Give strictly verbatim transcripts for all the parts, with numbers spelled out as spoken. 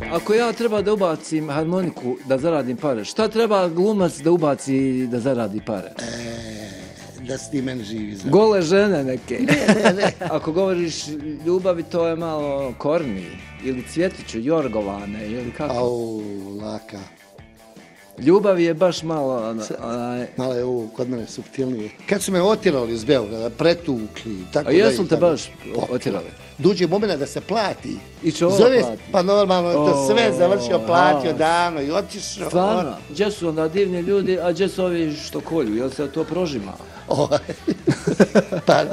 Ako ja treba da ubacim harmoniku da zaradim pare, šta treba glumac da ubaci da zaradi pare? E, da si ti meni živi. Znam. Gole žene neke. Ne, ne, ne. Ako govoriš ljubavi, to je malo korni. Ili cvjetiću, jorgovane, ili kako? Au, laka. Ljubav je baš malo... Onaj... Malo je ovo kod mene suptilnije. Kad su me otjerali iz Beograda, pretukli, tako A da... jesu te baš otjerali? Dođe moment da se plati. I čo Zove, plati? pa normalno, to sve završio, platio a, davno i otišao. Stvarno? Gdje su onda divni ljudi, a gdje su ovi što kolju? Jel se to prožima? Ovaj. Pa,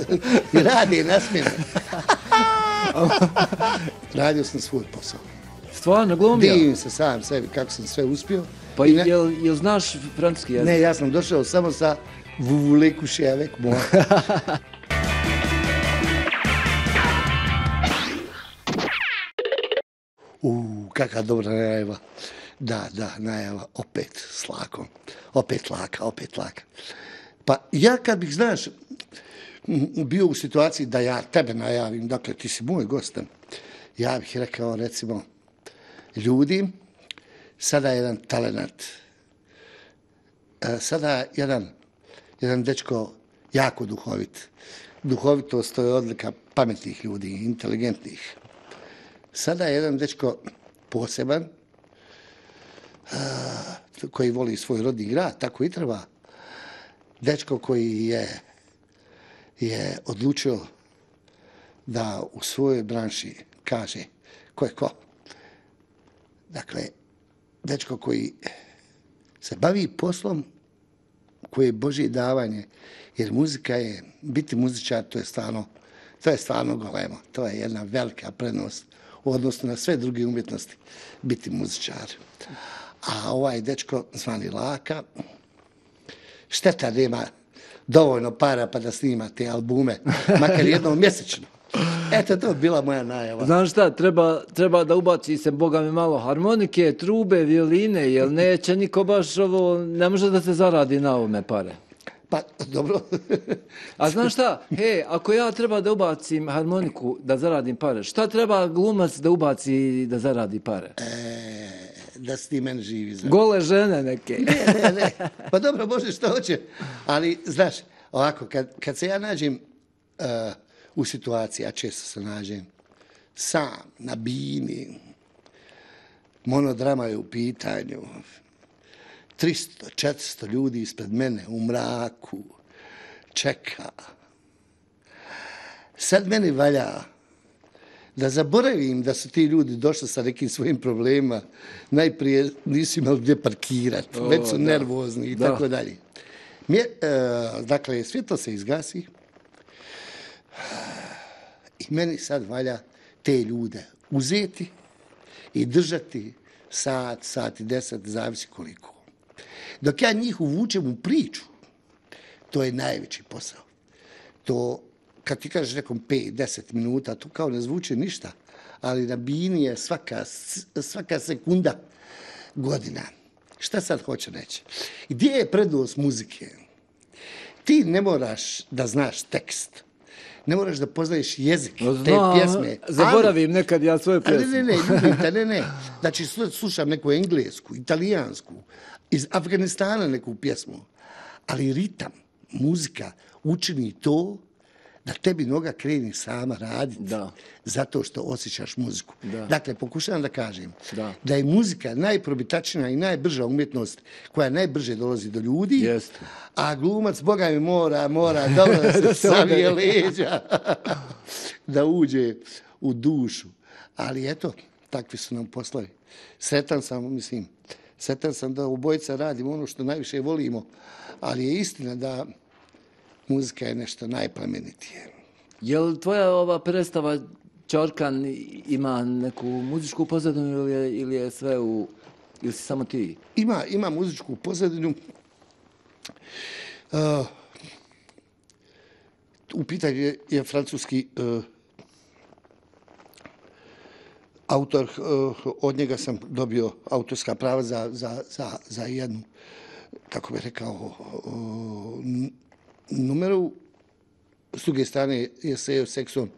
i radi na smjenu. Radio sam svoj posao. Stvarno, glumio? Divim se sam sebi kako sam sve uspio. Pa I ne... jel, jel znaš francuski jezik? Ne, ja sam došao samo sa vous voulez coucher avec moi. Uuu, kakva dobra najava. Da, da, najava, opet s lakom. Opet laka, opet laka. Pa ja kad bih, znaš, bio u situaciji da ja tebe najavim, dakle ti si moj gost, ja bih rekao recimo, ljudi, sada je jedan talenat, sada jedan, jedan dečko jako duhovit. Duhovitost to je odlika pametnih ljudi, inteligentnih. Sada je jedan dečko poseban, koji voli svoj rodni grad, tako i treba. Dečko koji je, je odlučio da u svojoj branši kaže ko je ko. Dakle, dečko koji se bavi poslom koji je Božje davanje, jer muzika je, biti muzičar, to je stvarno, to je stvarno golemo. To je jedna velika prednost u odnosu na sve druge umjetnosti, biti muzičar. A ovaj dečko zvani Laka, šteta nema dovoljno para pa da snima te albume, makar jednom mjesečno. Eto, to je bila moja najava. Znaš šta, treba, treba da ubaci se, boga mi, malo harmonike, trube, violine, jer neće niko baš ovo, ne može da se zaradi na ovome pare. Pa, dobro. A znaš šta, he, ako ja treba da ubacim harmoniku da zaradim pare, šta treba glumac da ubaci da zaradi pare? E, da si ti meni živi. Znam. Gole žene neke. Ne, ne, ne. Pa dobro, može što hoće. Ali, znaš, ovako, kad, kad se ja nađem uh, u situaciji, a često se nađem sam, na bini, monodrama je u pitanju, tristo četiristo ljudi ispred mene u mraku čeka. Sad meni valja da zaboravim da su ti ljudi došli sa nekim svojim problemima. Najprije nisu imali gdje parkirati, već su da. nervozni i da. tako dalje. Mje, uh, dakle, svjetlo se izgasi i meni sad valja te ljude uzeti i držati sat, sat i deset, zavisi koliko. Dok ja njih uvučem u priču, to je najveći posao. To, kad ti kažeš nekom pet, deset minuta, to kao ne zvuči ništa, ali na bini je svaka, svaka sekunda godina. Šta sad hoće reći? Gdje je prednost muzike? Ti ne moraš da znaš tekst. Ne moraš da poznaješ jezik Znam, te pjesme. Zaboravim ali, nekad ja svoju pjesmu. Ne, ne, ne, ljubim te, ne, ne. Znači, slušam neku englesku, italijansku, iz Afganistana neku pjesmu. Ali ritam, muzika učini to da tebi noga kreni sama raditi. Da. Zato što osjećaš muziku. Da. Dakle, pokušavam da kažem da. da je muzika najprobitačnija i najbrža umjetnost koja najbrže dolazi do ljudi. Jest. A glumac, Boga mi, mora, mora dobro da se savije leđa, da uđe u dušu. Ali eto, takvi su nam poslovi. Sretan sam, mislim, sretan sam da obojica radimo ono što najviše volimo, ali je istina da muzika je nešto najplemenitije. Je li tvoja ova predstava Ćorkan ima neku muzičku pozadinu ili je, ili je sve u... ili si samo ti? Ima, ima muzičku pozadinu. Uh, u pitanju je, je francuski uh, autor, uh, od njega sam dobio autorska prava za, za, za, za jednu, kako bih rekao, uh, numeru. S druge strane je Sejo Sekson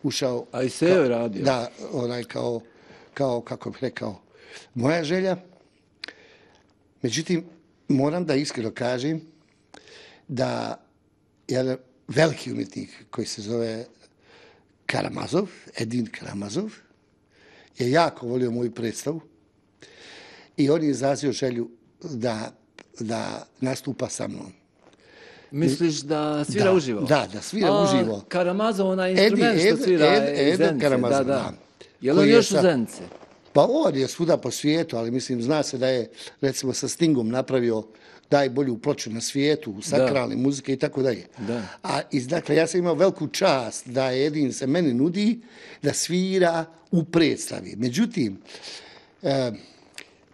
ušao... A i Sejo je radio? Da, onaj kao kao, kako bih rekao, moja želja. Međutim, moram da iskreno kažem da jedan veliki umjetnik koji se zove Karamazov, Edin Karamazov, je jako volio moju predstavu i on je izrazio želju da, da nastupa sa mnom. Misliš da svira da, uživo? Da, da svira A, uživo. Karamazov, onaj instrument Edi, što svira Ed, Ed, iz Zenice. Karamazov, da, da. da. Je li on Koji je još sa- u Zenici? Pa on je svuda po svijetu, ali mislim, zna se da je, recimo, sa Stingom napravio najbolju ploču na svijetu, sakralne muzike i tako dalje. Da. A iz, dakle, ja sam imao veliku čast da Edin se meni nudi da svira u predstavi. Međutim, e,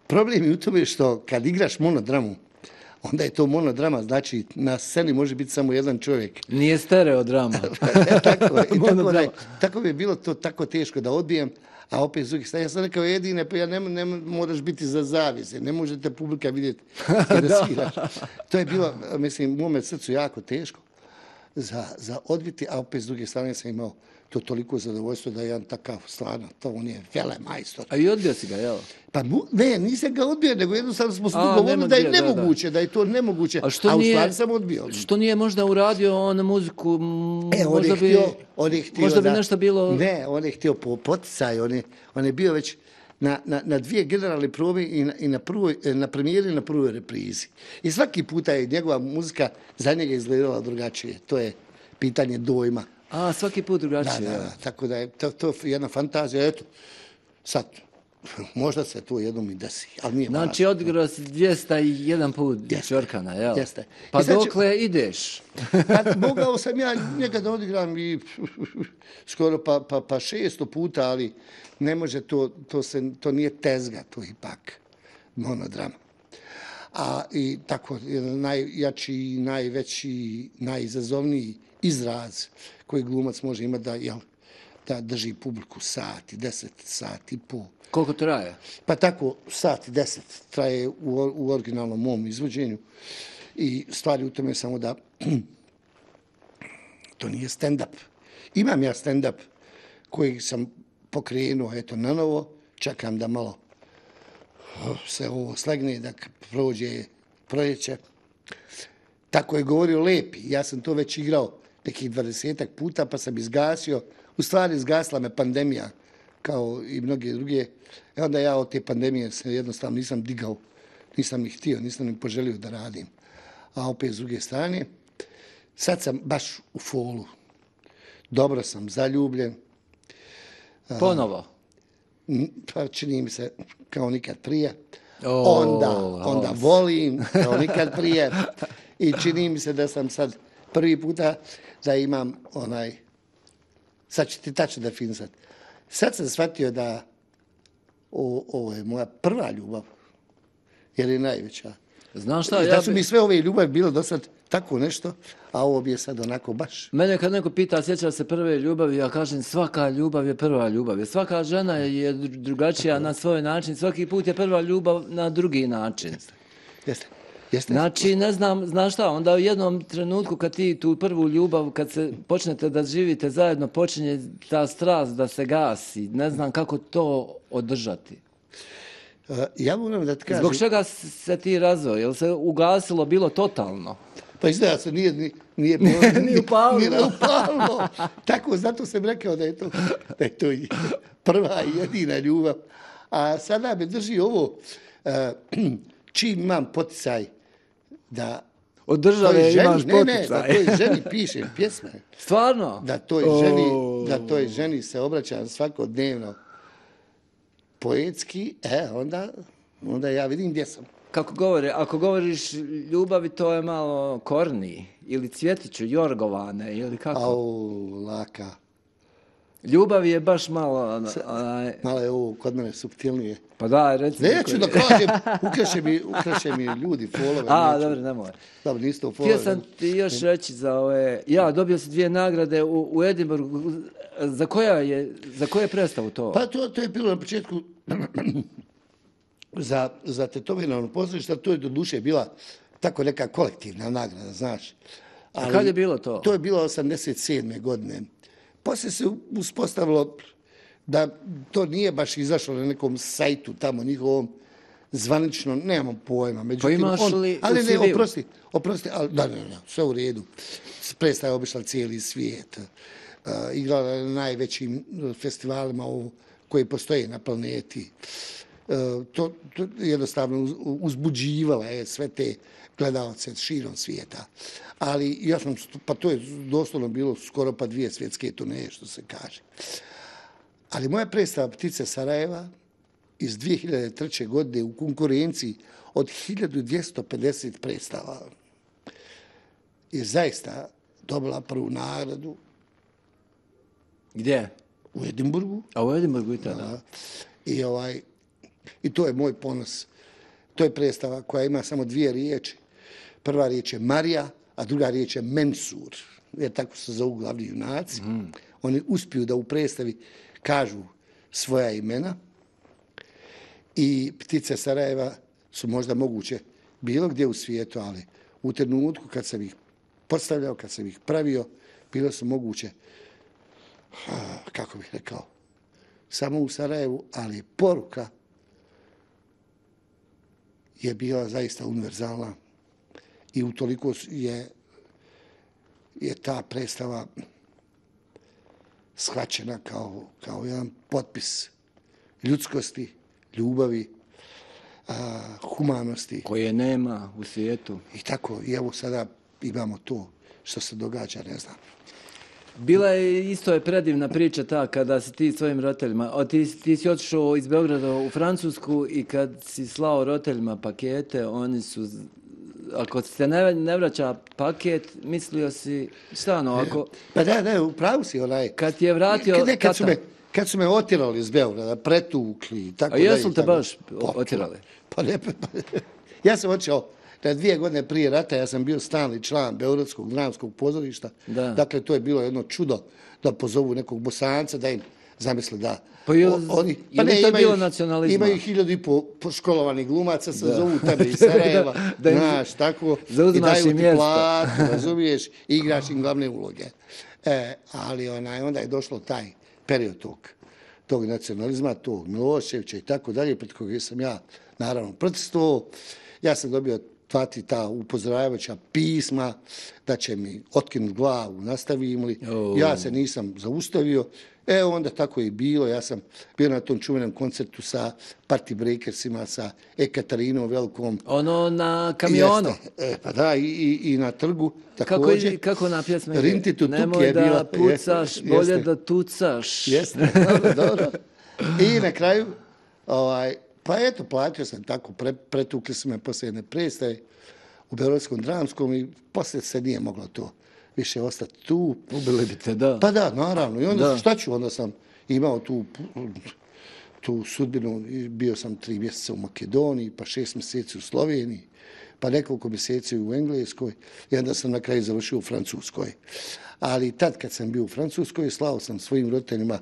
problem je u tome što kad igraš monodramu, onda je to monodrama, znači na sceni može biti samo jedan čovjek. Nije stereodrama. tako, je, i tako, da, Monodrama. je- tako mi je bilo to tako teško da odbijem, a opet s druge strane, ja sam rekao Edine, pa ja ne, ne moraš biti za zavise, ne možete publika vidjeti kada sviraš. To je bilo, mislim, u mome srcu jako teško za, za odbiti, a opet s druge strane sam imao to toliko zadovoljstvo da je jedan takav, stvarno, to on je vele majstor. A i odbio si ga, jel? Pa mu, ne, nisam ga odbio, nego jednostavno smo se A, dogovorili nema da je gdje, da, da. nemoguće, da je to nemoguće, A što a u nije- stvari sam odbio. Što nije možda uradio on muziku, m, E, on možda je bi, htio, on je htio možda bi da- nešto bilo... Ne, on je htio po poticaju, on je, on je bio već na, na, na dvije generalne probe i na, i na, prvoj, na premijeri i na prvoj reprizi. I svaki puta je njegova muzika za njega izgledala drugačije. To je pitanje dojma. A, svaki put Da, drugačije. da, jel? da, tako da je to, to jedna fantazija. Eto, sad, možda se to jednom i desi, ali nije Znači, važno. odigrao si dvjesto jedan put Jeste. Čorkana, jel? Jeste. Pa I sad ću- dokle ideš? Pa, mogao sam ja nekada odigram i skoro pa, pa, pa šesto puta, ali ne može to, to, se, to nije tezga, to je ipak monodrama. A i tako, jedan najjači, najveći, najizazovniji izraz koji glumac može imati da, jel, da drži publiku sat i deset, sat i pol. Koliko traje? Pa tako, sat i deset traje u, u originalnom mom izvođenju i stvari u tome samo da to nije stand-up. Imam ja stand-up koji sam pokrenuo, eto, na novo, čekam da malo se ovo slegne, da prođe proljeće. Tako je govorio Lepi, ja sam to već igrao nekih dvadesetak puta, pa sam izgasio, u stvari izgasila me pandemija, kao i mnoge druge. I onda ja od te pandemije se jednostavno nisam digao, nisam ih htio, nisam ih poželio da radim. A opet s druge strane, sad sam baš u folu. Dobro sam zaljubljen. Ponovo? N- Pa čini mi se kao nikad prije. O, Onda, onda Hans. volim kao nikad prije. I čini mi se da sam sad prvi puta da imam onaj, sad ću ti tačno definisati. Sad sam shvatio da o, ovo je moja prva ljubav, jer je najveća. Znaš šta, I ja da su bi... mi sve ove ljubavi bilo do sad tako nešto, a ovo bi je sad onako baš. Mene kad neko pita sjeća se prve ljubavi, ja kažem svaka ljubav je prva ljubav. Jer svaka žena je dru- drugačija na svoj način, svaki put je prva ljubav na drugi način. Jeste, jeste. Znači, ne znam, znaš šta, onda u jednom trenutku kad ti tu prvu ljubav, kad se počnete da živite zajedno, počinje ta strast da se gasi. Ne znam kako to održati. Uh, ja moram da ti kažem, Zbog čega se ti razveo? Jel se ugasilo bilo totalno? pa izgleda se nije, ni- nije, bilo, Ni upalilo. Nije upalilo. Tako, zato sam rekao da je to, da je to i prva i jedina ljubav. A sada me drži ovo, uh, čim imam poticaj da Od toj države ženi, imaš ne, ne, da poticaj. toj ženi pišem pjesme, Stvarno? da toj ženi, da toj ženi se obraćam svakodnevno poetski, e, onda, onda ja vidim gdje sam. Kako govore, ako govoriš ljubavi, to je malo korni. Ili cvjetiću, jorgovane, ili kako? Au, laka. Ljubav je baš malo... Onaj, Malo je ovo kod mene suptilnije. pa daj, reci mi Neću koji- da kažem, ukraše mi, ukraše mi ljudi folove. A, neću. dobro, nemoj. Dobro, niste u folove. Htio sam ti još reći za ove... Ja, dobio si dvije nagrade u, u Edinburgu. Za koja je, za koje je predstavu to? Pa to, to je bilo na početku za, za tetovirano pozorište, to je do duše bila tako neka kolektivna nagrada, znaš. A kad je bilo to? To je bilo osamdeset sedme godine. Poslije se uspostavilo da to nije baš izašlo na nekom sajtu tamo njihovom zvanično, nemam pojma. Međutim, Pa imaš on, li ali u ne, C V-u? oprosti, oprosti, ali, da, ne, ne, sve u redu. Predstava je obišla cijeli svijet. Uh, igrala je na najvećim festivalima u, koji postoje na planeti. Uh, to, to jednostavno uz, uzbuđivala je sve te gledalce širom svijeta. Ali ja sam, pa to je doslovno bilo skoro pa dvije svjetske turneje, što se kaže. Ali moja predstava Ptice Sarajeva iz dvije hiljade treće. godine u konkurenciji od hiljadu dvjesto pedeset predstava je zaista dobila prvu nagradu. Gdje? U Edinburgu. A u Edinburgu i tada? I, ovaj, I to je moj ponos. To je predstava koja ima samo dvije riječi. Prva riječ je Marija, a druga riječ je Mensur. Jer tako se zovu glavni junaci. Mm. Oni uspiju da u predstavi kažu svoja imena. I Ptice Sarajeva su možda moguće bilo gdje u svijetu, ali u trenutku kad sam ih postavljao, kad sam ih pravio, bilo su moguće, kako bih rekao, samo u Sarajevu, ali poruka je bila zaista univerzalna i utoliko je, je ta predstava shvaćena kao, kao jedan potpis ljudskosti, ljubavi, a, humanosti. Koje nema u svijetu. I tako, i evo sada imamo to što se događa, ne znam. Bila je, isto je predivna priča ta kada si ti svojim roditeljima, o, ti, ti si otišao iz Beograda u Francusku i kad si slao roditeljima pakete, oni su, ako se ne, ne vraća paket, mislio si, šta ono, ako... Pa da, da, upravo si onaj... Kad ti je vratio ne, kad, su tata... me, kad su me otirali iz Beograda, pretukli i tako A dalje. jesu li te baš pa, otirali? Pa ne, pa, ja sam otišao na dvije godine prije rata, ja sam bio stalni član Beogradskog dramskog pozorišta. Da. Dakle, to je bilo jedno čudo da pozovu nekog Bosanca, da im zamisle da... Pa je, o, oni, pa ne, to bilo nacionalizma? Imaju hiljadu i po, po školovanih glumaca, se zovu tebe iz Sarajeva, da, da im, znaš, tako, i daju ti platu, razumiješ, i igraš im glavne uloge. E, ali onaj, onda je došlo taj period tog, tog nacionalizma, tog Miloševića i tako dalje, pred kojeg sam ja, naravno, protestovao. Ja sam dobio tvati ta upozoravajuća pisma da će mi otkinuti glavu, nastavim li. Oh. Ja se nisam zaustavio. E, onda tako je i bilo. Ja sam bio na tom čuvenom koncertu sa Party Breakersima, sa Ekatarinom Velikom. Ono na kamionu. E, pa da, i, i, i na trgu također. Kako, kako na pjesme? Rinti tu Nemoj je da bila, pucaš, jeste, bolje jeste. da tucaš. Jeste, dobro, dobro. I na kraju, ovaj, pa eto, platio sam tako, pre, pretukli su me poslije jedne predstave u Beogradskom dramskom i poslije se nije moglo to više ostati tu. Ubili bi te, da. Pa da, naravno. I onda da. šta ću, onda sam imao tu, tu sudbinu, bio sam tri mjeseca u Makedoniji, pa šest mjeseci u Sloveniji, pa nekoliko mjeseci u Engleskoj i onda sam na kraju završio u Francuskoj. Ali tad kad sam bio u Francuskoj, slao sam svojim roditeljima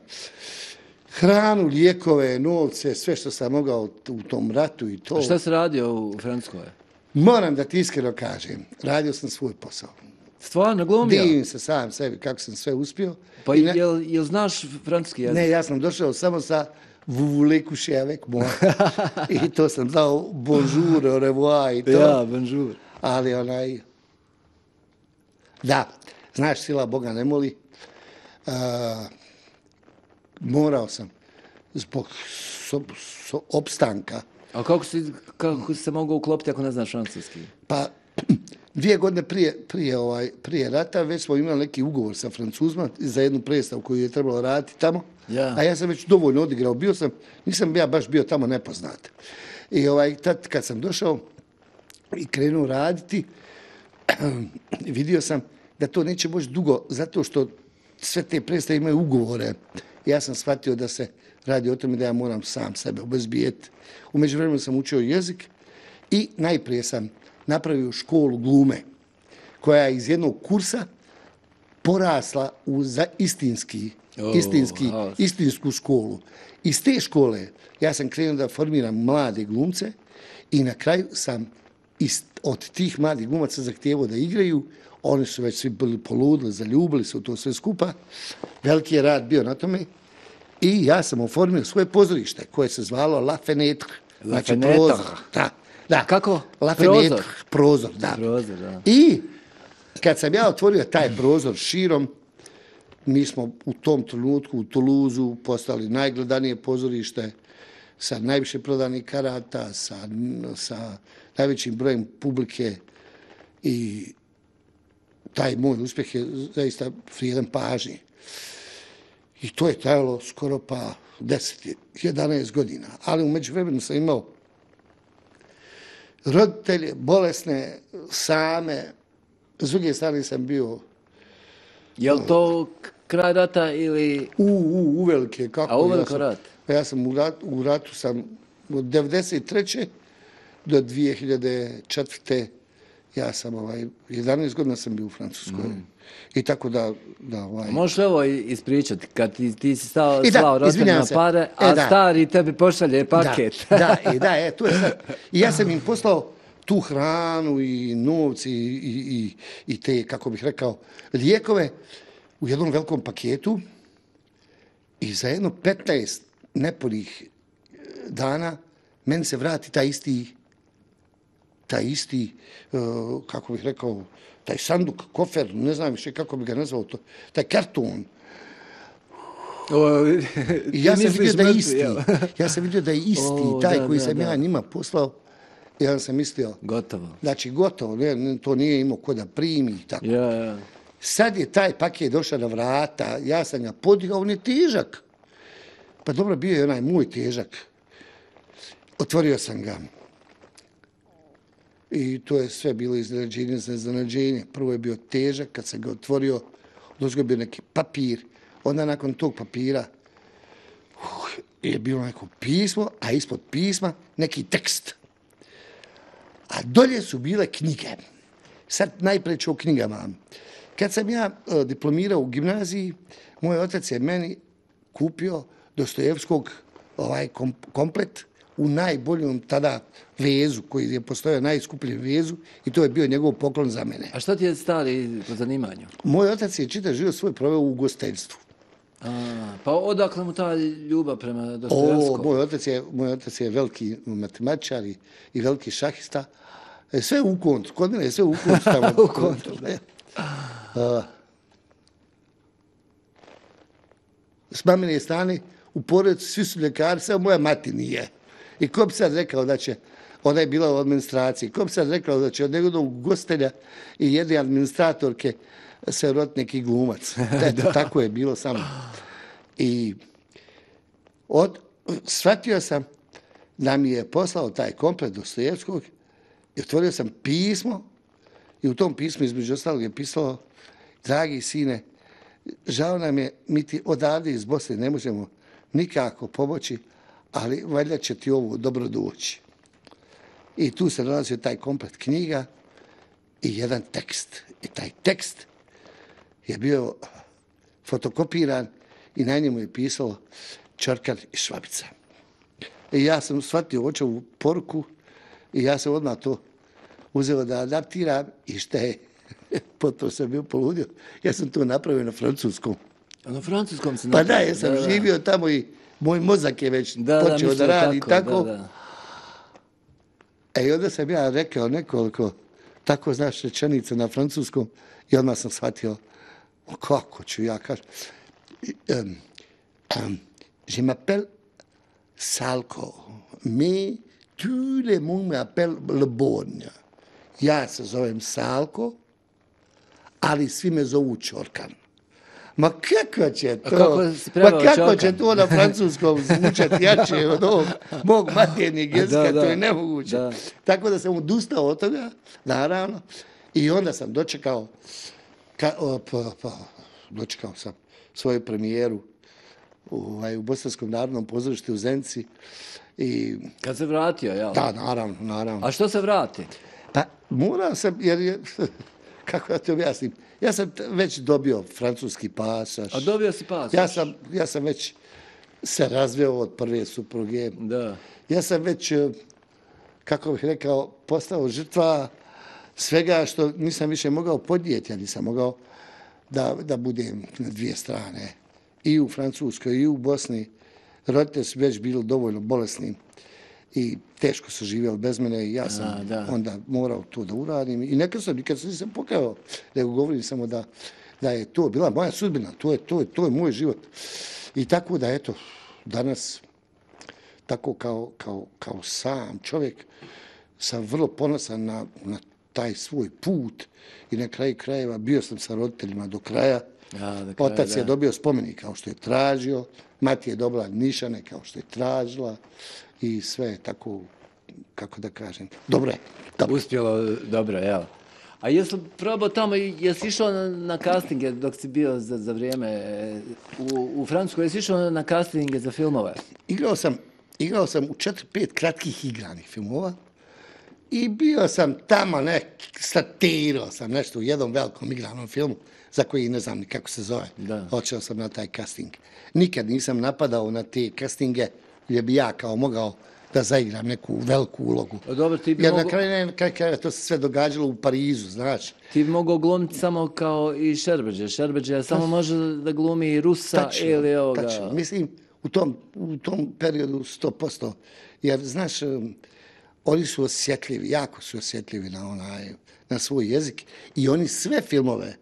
hranu, lijekove, novce, sve što sam mogao u tom ratu i to. A šta si radio u Francuskoj? Moram da ti iskreno kažem, radio sam svoj posao. Stvarno, glumio? Divim se sam sebi kako sam sve uspio. Pa ne, jel, jel znaš francuski jezik? Ne, ja sam došao samo sa vous voulez coucher avec moi. I to sam znao bonjour, au revoir i to. Ja, bonjour. Ali onaj, da, znaš, sila Boga ne moli. Uh, morao sam zbog so, so, opstanka. A kako si, kako si se mogao uklopiti ako ne znaš francuski? Pa, dvije godine prije, prije, ovaj, prije rata već smo imali neki ugovor sa Francuzima za jednu predstavu koju je trebalo raditi tamo. Ja. A ja sam već dovoljno odigrao. Bio sam, nisam ja baš bio tamo nepoznat. I ovaj, tad kad sam došao i krenuo raditi, vidio sam da to neće moći dugo, zato što sve te predstave imaju ugovore. Ja sam shvatio da se radi o tome da ja moram sam sebe obezbijeti. U međuvremenu sam učio jezik i najprije sam napravio školu glume, koja je iz jednog kursa porasla u za istinski, oh, istinski, oh. istinsku školu. Iz te škole ja sam krenuo da formiram mlade glumce i na kraju sam ist, od tih mladih glumaca zahtijevao da igraju. Oni su već svi bili poludili, zaljubili se u to sve skupa. Veliki je rad bio na tome. I ja sam oformio svoje pozorište koje se zvalo La Fenêtre. La Znači Fenêtre. prozor. Da, da. Kako? La Prozor? Fenêtre, prozor, da. Prozor, da. I kad sam ja otvorio taj prozor širom, mi smo u tom trenutku u Toulouseu postali najgledanije pozorište sa najviše prodanih karata, sa, sa najvećim brojem publike i taj moj uspjeh je zaista vrijedan pažnje. I to je trajalo skoro pa deset, jedanaest godina. Ali u međuvremenu sam imao roditelje, bolesne, same. S druge strane sam bio... Je li to kraj rata ili... U, u, uvelike. Kako? A uveliko ja sam, rat? Ja sam u ratu, u ratu sam od devedeset treće do dvije hiljade četvrte ja sam ovaj, jedanaest godina sam bio u Francuskoj. Mm. I tako da... da ovaj... Možeš li ovo ispričati, kad ti, ti si stao, I da, slao roditeljima se. pare, a e, da. stari tebi pošalje paket. Da, da, e, da, e, to je sad. I ja sam im poslao tu hranu i novci i, i, i te, kako bih rekao, lijekove u jednom velikom paketu i za jedno petnaest nepunih dana meni se vrati taj isti taj isti, uh, kako bih rekao, taj sanduk, kofer, ne znam više kako bih ga nazvao to, taj karton. O, I ja sam vidio da je mrtvi, isti, jel? ja sam vidio da je isti, O, taj da, koji da, sam da. ja njima poslao, ja sam mislio, Gotovo. znači gotovo, ne, ne, to nije imao ko da primi i tako. Ja, ja. Sad je taj paket došao na vrata, ja sam ga podigao, on je težak. Pa dobro, bio je onaj moj težak. Otvorio sam ga. I to je sve bilo iznenađenje za iznenađenje. Prvo je bio težak, kad sam ga otvorio, došao je bio neki papir. Onda nakon tog papira uh, je bilo neko pismo, a ispod pisma neki tekst. A dolje su bile knjige. Sad najprije ću o knjigama. Kad sam ja uh, diplomirao u gimnaziji, moj otac je meni kupio Dostojevskog ovaj kom, komplet u najboljom tada vezu, koji je postojao najskupljem vezu i to je bio njegov poklon za mene. A šta ti je stari po zanimanju? Moj otac je čitav život svoj proveo u ugostiteljstvu. A, pa odakle mu ta ljubav prema O, Dostojevskom? moj otac je, moj otac je veliki matematičar i, i veliki šahista. E, sve u kontu, kod mene je sve u kontu tamo. U kontu, da. Uh, s mamine strane u porodici svi su ljekari, samo moja mati nije. I ko bi sad rekao da će, ona je bila u administraciji, ko bi sad rekao da će od njegovog gostelja i jedne administratorke se roditi neki glumac. Eto, tako je bilo samo. I od, shvatio sam da mi je poslao taj komplet Dostojevskog i otvorio sam pismo i u tom pismu između ostalog je pisalo: dragi sine, žao nam je, mi ti odavde iz Bosne ne možemo nikako pomoći, ali valjda će ti ovo dobro doći. I tu se nalazio taj komplet knjiga i jedan tekst. I taj tekst je bio fotokopiran i na njemu je pisalo Čorkan i Švabica. I ja sam shvatio očevu poruku i ja sam odmah to uzeo da adaptiram i šta je, potom sam bio poludio, ja sam to napravio na francuskom. A na francuskom se Pa napravio? da, ja sam Da, da. živio tamo i moj mozak je već Da, počeo mislim da radi tako, tako. Da, da. E, i onda sam ja rekao nekoliko tako, znaš, rečenica na francuskom i odmah sam shvatio kako ću ja kažem. Um, um, je m'appelle Salko, mais tout le monde m'appelle Le Bon. Ja se zovem Salko, ali svi me zovu Čorkan. Ma kako će to? A kako si Ma preveo kako Čorkan? će to na francuskom zvučati jače od ovog mog maternjeg jezika, Da, da. to je nemoguće. Da. Tako da sam odustao od toga, naravno, i onda sam dočekao, ka, o, pa, pa, dočekao sam svoju premijeru u, u Bosanskom narodnom pozorištu u Zenci. I, Kad se vratio, jel? da, naravno, naravno. A što se vrati? Pa morao sam, jer je, kako da ti objasnim, ja sam t- već dobio francuski pasaž. A dobio si pasoš? Ja sam, ja sam već se razveo od prve supruge. Da. Ja sam već, eh, kako bih rekao, postao žrtva svega što nisam više mogao podnijeti. Ja nisam mogao da, da budem na dvije strane. i u Francuskoj i u Bosni. Roditelji su već bili dovoljno bolesni i teško su živjeli bez mene i ja sam A, da. onda morao to da uradim. I nekad sam, nikad sam nisam pokajao, nego govorim samo da, da je to bila moja sudbina, to je, to je, to je moj život. I tako da, eto, danas, tako kao, kao, kao sam čovjek, sam vrlo ponosan na, na taj svoj put i na kraju krajeva bio sam sa roditeljima do kraja. A, do kraja, Otac da. je dobio spomenik kao što je tražio, mati je dobila nišane kao što je tražila i sve je tako, kako da kažem, dobro je. Dobro. Uspjelo dobro, jel? A jesi li probao tamo, jesi išao na, na castinge dok si bio za, za vrijeme e, u, u Francuskoj, jesi išao na castinge za filmove? Igrao sam, igrao sam u četiri, pet kratkih igranih filmova i bio sam tamo, nek, statirao sam nešto u jednom velikom igranom filmu za koji ne znam ni kako se zove. Da. Otišao sam na taj casting. Nikad nisam napadao na te castinge gdje bi ja kao mogao da zaigram neku veliku ulogu. O, dobro, ti bi Jer na mogo, kraju, na kraju krajeva to se sve događalo u Parizu, znaš. ti bi mogao glumiti samo kao i Šerbeđe. Šerbeđe samo može da glumi i Rusa Tačno, ili ovoga. tačno. Mislim, u tom, u tom periodu sto posto. Jer, znaš, um, oni su osjetljivi, jako su osjetljivi na, onaj, na svoj jezik i oni sve filmove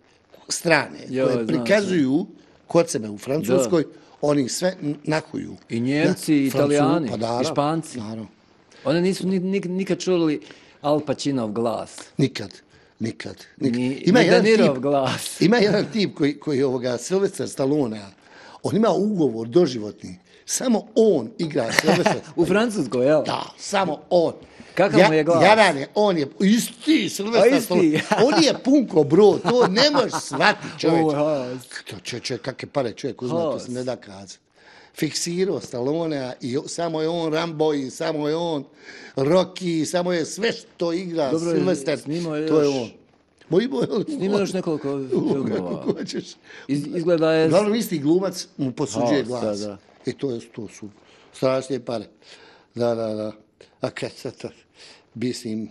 strane Jo, koje znam, prikazuju kod sebe u Francuskoj, oni sve nahuju. I Njemci, i Na Francu- Italijani, pa naravno, i Španci. Naravno. Oni nisu ni, nik, nikad čuli Al Pacinoov glas. Nikad, nikad. nikad. Ni, Ima ni jedan Denirov tip, glas. ima jedan tip koji, koji ovoga Sylvester Stallone, on ima ugovor doživotni. Samo on igra Sylvester. U Francuskoj, jel? Da, samo on. Kakav mu je glas? Jadan je, on je isti A, Sylvester isti. Stallone. On je punko, bro, to ne možeš shvatiti, čovječ. U, ha. To čovječ, čovječ, kakve pare čovjek uzme, to se ne da kazati. Fiksirao Stallonea i samo je on Rambo i samo je on Rocky, samo je sve što igra Dobro, Sylvester, snimao je to je još- on. Moji boje, Snima još nekoliko filmova. kako hoćeš. Iz, izgleda je... Uglavnom isti glumac mu posuđuje Ha, glas. da, da. I to, je, to su strašne pare. Da, da, da. A kad sad to, mislim,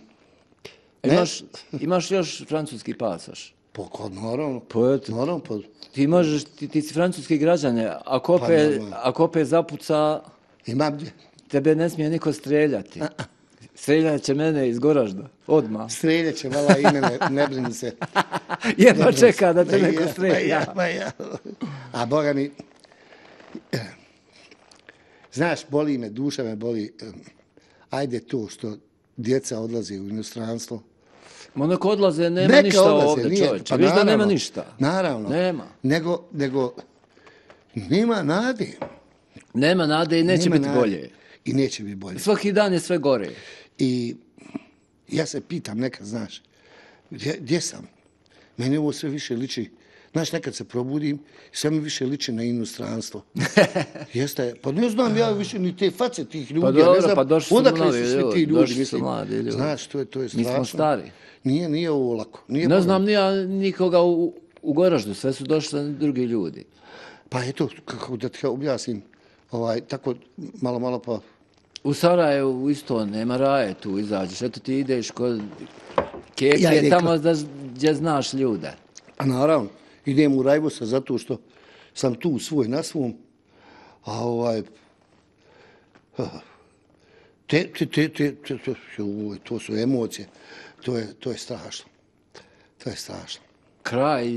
ne, Imaš, imaš još francuski pasoš. po, ko, naravno, Pa eto. naravno, po, Ti možeš, ti, ti si francuski građane, ako Pa, opet, normalno. ako opet zapuca, imam gdje. tebe ne smije niko streljati. Streljat će mene iz Goražda, odmah. Streljet će vala i mene, ne brini se. Jedva čeka da te Ma neko ja, strelja. ma ja, ma ja. A Boga mi, znaš, boli me, duša me boli. Ajde to što djeca odlaze u inostranstvo. Ma neko odlaze, nema Neka ništa odlaze, ovdje, nije, čovječe. pa Viš da nema naravno, ništa. Naravno. Nema. Nego, nego, nema nade. Nema nade i neće Nema biti nade. bolje. I neće biti bolje. Svaki dan je sve gore. I ja se pitam nekad, znaš, gdje, gdje sam? Meni ovo sve više liči, znaš, nekad se probudim i sve mi više liči na inostranstvo. Jeste, pa ne znam ja više ni te face tih ljudi. Pa ja dobro, ne znam, pa došli su odakle novi su svi ljudi, ti ljudi, došli su mislim. mladi ljudi. Znaš, to je, to je Mi strašno. smo stari. Nije, nije ovo lako. Nije Ne Boga. znam ni ja nikoga u, u Goraždu, sve su došli drugi ljudi. Pa eto, kako da ti objasnim, ovaj, tako malo, malo pa... U Sarajevu isto nema raje tu izađeš. Eto ti ideš kod Keke, Ja idem tamo da, gdje znaš ljude. A naravno, idem u Rajvosa zato što sam tu svoj na svom, a ovaj, te, te, te, te, te, te, joj, to su emocije, to je, to je strašno, to je strašno. Kraj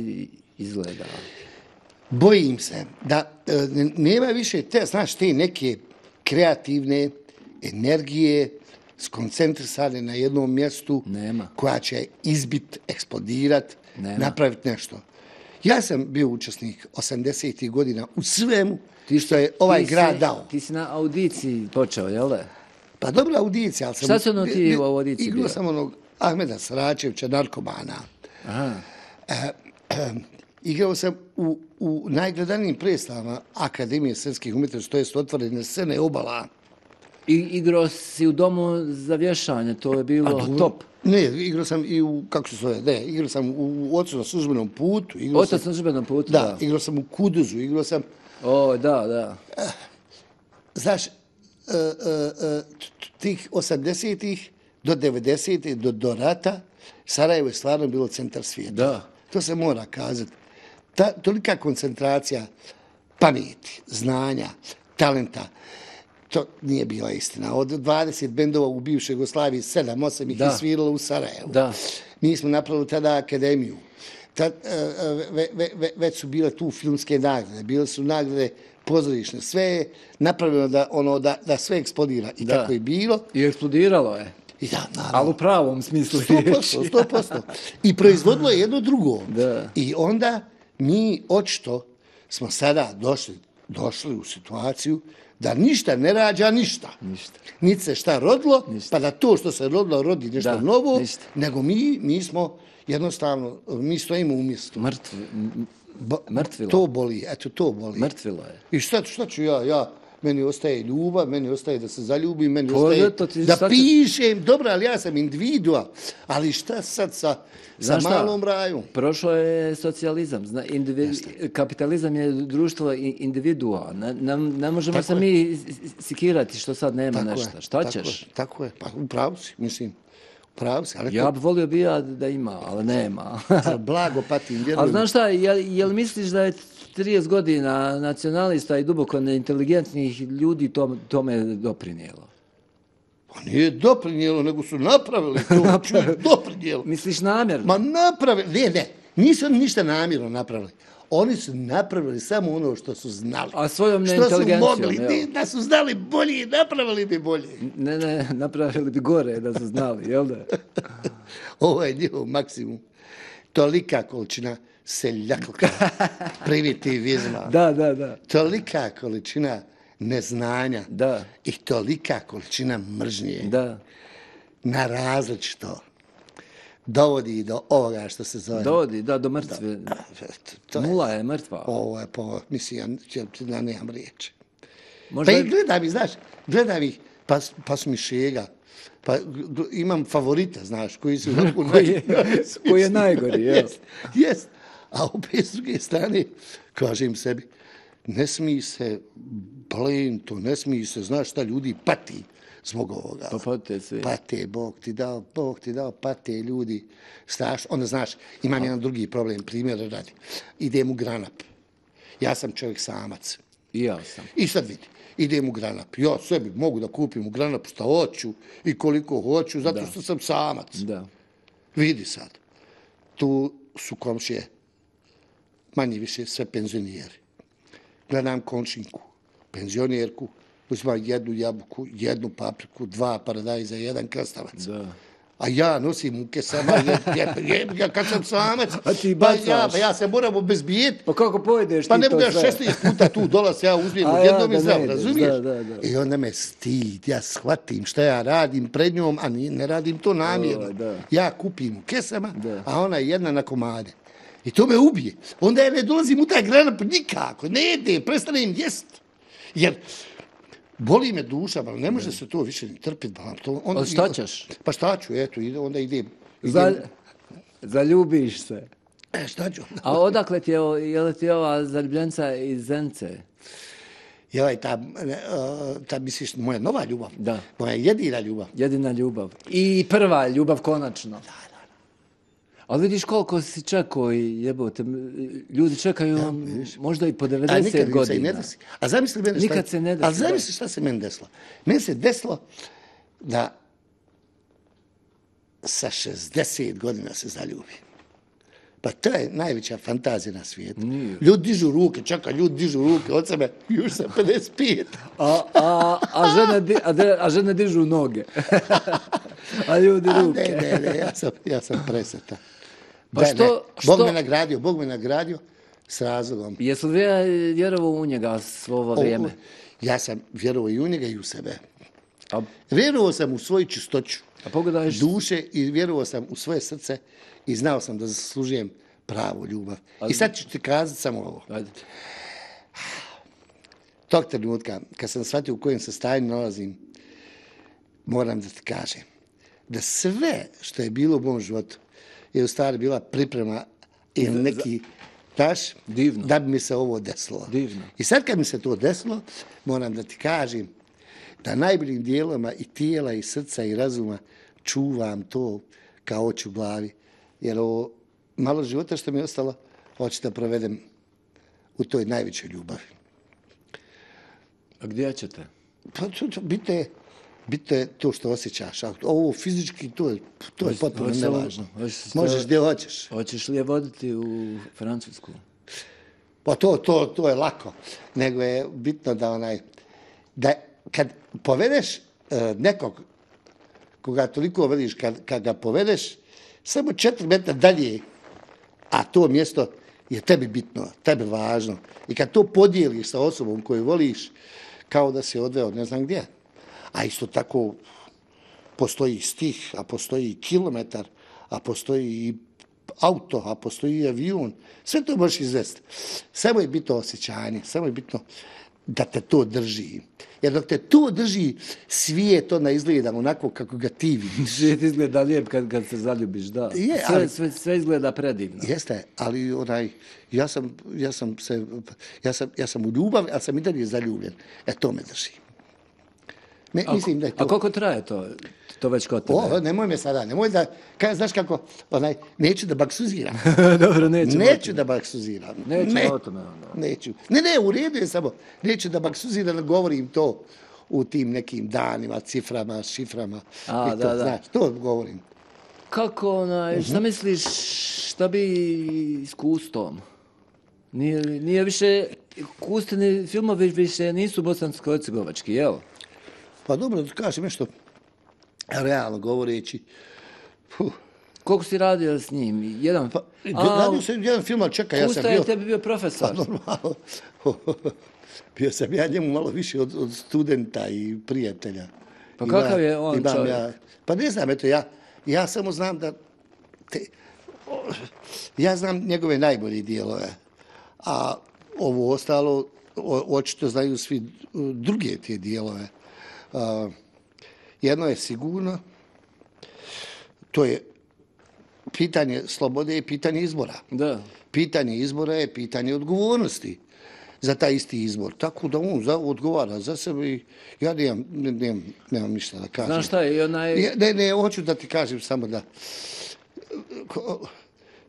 izgleda. Bojim se da e, nema više te, znaš, te neke kreativne energije skoncentrisane na jednom mjestu Nema. koja će izbit, eksplodirat, Nema. napraviti nešto. Ja sam bio učesnik osamdesetih godina u svemu Ti što je ovaj ti grad si- dao. Ti si na audiciji počeo, jel da? Pa dobra audicija, ali sam... Šta si ono ti bi- u audiciji Igrao bio? sam onog Ahmeda Saračevića, narkomana. Aha. Igrao sam u, u najgledanijim predstavama Akademije srpskih umjetnosti, to jest otvorene scene Obala. I igrao si u domu za vješanje, to je bilo top. Ne, igrao sam i u, kako se zove, ne, igrao sam u Ocu na službenom putu. Igrao Otac sam, na službenom putu, da, da. igrao sam u Kuduzu, igrao sam, O, da, da. znaš, e, e, e, t- tih osamdesetih do devedesetih, do, do rata, Sarajevo je stvarno bilo centar svijeta. Da. To se mora kazati. Ta, tolika koncentracija pameti, znanja, talenta. To nije bila istina. Od dvadeset bendova u bivšoj Jugoslaviji, sedam, osam ih je sviralo u Sarajevu. Da. Mi smo napravili tada akademiju. Tad, ve, ve, ve, već su bile tu filmske nagrade, bile su nagrade pozorišne. Sve je napravljeno da, ono, da, da sve eksplodira. I da. tako je bilo. I eksplodiralo je. I da, naravno. Ali u pravom smislu riječi. sto posto. I proizvodilo je jedno drugo. Da. I onda mi očito smo sada došli, došli u situaciju da ništa ne rađa ništa. Ništa. Niti se šta rodilo, ništa. pa da to što se rodilo rodi nešto da, novo, ništa. nego mi, mi smo jednostavno, mi stojimo u mjestu. Mrtvi, mrtvilo. To boli, eto to boli. Mrtvilo je. I šta, šta ću ja, ja, meni ostaje ljubav, meni ostaje da se zaljubim, meni to ostaje ti, da pišem, dobro, ali ja sam individua, ali šta sad sa, sa malom rajom? Prošlo je socijalizam, zna, individu, kapitalizam je društvo individua, ne, ne, ne možemo tako se je. mi sikirati što sad nema tako nešto, šta tako ćeš? Je, tako je, pa upravo si, mislim. Si, ali ja bi volio bi ja da ima, ali nema. Blago patim, vjerujem. Ali znaš šta, jel, jel misliš da je trideset godina nacionalista i duboko neinteligentnih ljudi tom, tome doprinijelo? Pa nije doprinijelo, nego su napravili to. napravili. Doprinijelo. Misliš namjerno? Ma napravili, ne, ne, nisu oni ništa namjerno napravili. Oni su napravili samo ono što su znali. A svojom neinteligencijom, što su mogli, ne, da su znali bolje, napravili bi bolje. Ne, ne, napravili bi gore da su znali, jel da? Ovo je njihov maksimum. Tolika količina seljaklka, primitivizma. Da, da, da. Tolika količina neznanja. Da. I tolika količina mržnje. Da. Na različito. Dovodi do ovoga što se zove. Dovodi, da, do mrtve. Da, to je, Nula je mrtva. Ovo je po, mislim, ja, ja nemam riječi. Možda... Pa i gledam ih, znaš, gledam ih, pa, pa su mi šega. Pa imam favorita, znaš, koji su... koji, je, koji je najgori, jel? Jest, jest. A opet s druge strane, kažem sebi, ne smije se blame to, ne smije se, znaš šta ljudi pati zbog ovoga. Pa pate svi. Pate, Bog ti dao, Bog ti dao, pate ljudi. Strašno. Onda, znaš, imam jedan drugi problem, primjer radi. Idem u Granap. Ja sam čovjek samac. I ja sam. I sad vidi, idem u Granap. Ja sebi mogu da kupim u Granapu šta hoću i koliko hoću, zato da. što sam samac. Da. Vidi sad, tu su komšije manje više sve penzioneri. Gledam komšinku, penzionerku, uzima jednu jabuku, jednu papriku, dva paradajza, jedan krastavac. Da. A ja nosim u kesama, ja kad sam samac, a ti bacaš. Pa ja, pa ja se moram obezbijeti. Pa kako pojedeš pa ti to sve? Pa ne budeš šesnaest puta tu dolaz, ja uzmijem od jednom ja, i zdrav, razumiješ? Da, da, da. I onda me stid, ja shvatim šta ja radim pred njom, a ne radim to namjerno. O, ja kupim u kesama, da. A ona je jedna na komade. I to me ubije. Onda ja ne dolazim u taj Granap nikako, ne jedem, prestanem jest. Jer boli me duša, ali ne može se to više ni trpiti. A šta ćeš? Pa šta ću, eto, onda idem. idem. Za, zaljubiš se. E, šta ću? A odakle ti je, je li ti ova zaljubljenca iz Zence? Joj, ta, ta misliš, moja nova ljubav. Da. Moja jedina ljubav. Jedina ljubav. I prva ljubav, konačno. Da, da. Ali vidiš koliko si čekao i jebote, ljudi čekaju ja, možda i po devedeset godina. Ne desi. A zamisli mene šta... Nikad se ne desi. Ali zamisli šta se meni desilo. Meni se desilo da sa šezdeset godina se zaljubim. Pa to je najveća fantazija na svijetu. Nije. Ljudi dižu ruke, čekaj, ljudi dižu ruke od sebe, još sam pedeset pet. A, a, a, žene, a, a žene dižu noge. A ljudi ruke. A ne, ne, ne, ja sam, ja sam presretan. Pa da, što, Bog što... me nagradio, Bog me nagradio s razlogom. Jesu li vjerovao u njega svo ovo vrijeme? O, ja sam vjerovao i u njega i u sebe. A... Vjerovao sam u svoju čistoću A pogledajš... duše i vjerovao sam u svoje srce i znao sam da zaslužujem pravu ljubav. A... I sad ću ti kazati samo ovo. Ajde. Tog trenutka, kad sam shvatio u kojem se stanju nalazim, moram da ti kažem da sve što je bilo u mom životu je u stvari bila priprema ili neki, daš, divno. Da bi mi se ovo desilo. Divno. I sad kad mi se to desilo, moram da ti kažem da najboljim dijelama i tijela i srca i razuma čuvam to kao oči u glavi. Jer ovo malo života što mi je ostalo, hoću da provedem u toj najvećoj ljubavi. A gdje ćete? Pa to, to, bitne, bitno je to što osjećaš. A ovo fizički, to je, to je potpuno Hoćeš- nevažno. hoćeš- Možeš gdje hoćeš. Hoćeš li je voditi u Francusku? Pa to, to, to je lako. Nego je bitno da onaj, da kad povedeš e, nekog koga toliko veliš, kad, kad ga povedeš, samo četiri metra dalje, a to mjesto je tebi bitno, tebi važno. I kad to podijeliš sa osobom koju voliš, kao da si odveo ne znam gdje. A isto tako postoji stih, a postoji kilometar, a postoji i auto, a postoji i avion. Sve to možeš izvesti. Samo je bitno osjećanje, samo je bitno da te to drži. Jer dok te to drži, svijet onda izgleda onako kako ga ti vidiš. Svijet izgleda lijep kad, kad se zaljubiš, da. Je, sve, ali- sve, sve izgleda predivno. Jeste, ali onaj, ja sam, ja sam se, ja sam, ja sam u ljubavi, ali sam i dalje zaljubljen. E, to me drži. Me, A, mislim da je to... a koliko traje to, to već kod tebe? O, nemoj me sada, nemoj da, kaj, znaš kako, onaj, neću da baksuziram. Dobro, nećemo. Neću da baksuziram. Nećemo ne, o tome, onda. Neću. Ne, ne, u redu je samo. Neću da baksuziram, govorim to u tim nekim danima, ciframa, šiframa. A, i to, da, da. Znaš, to govorim. Kako, onaj, šta misliš, šta bi s Kustom? Nije, nije više, Kustini filmovi više nisu bosansko-hercegovački, jel? Pa dobro, da kažem nešto, realno govoreći, puh, Koliko si radio s njim? Jedan... pa, A, radio sam jedan film, ali čekaj, ja sam Kusta bio... je tebi bio Pa profesor. normalno. Bio sam ja njemu malo više od, od studenta i prijatelja. Pa Ima- kakav je on imam čovjek? Ja, pa ne znam, eto, ja, ja samo znam da... Te, o, ja znam njegove najbolje dijelove, a ovo ostalo, o, očito znaju svi druge te dijelove. A, jedno je sigurno, to je pitanje slobode i pitanje izbora. Da. Pitanje izbora je pitanje odgovornosti za taj isti izbor. Tako da on za, odgovara za sebe i ja nemam, ne- nemam, nemam ništa da kažem. Znaš šta je, i onaj... Ja, ne, ne, hoću da ti kažem samo da... Ko,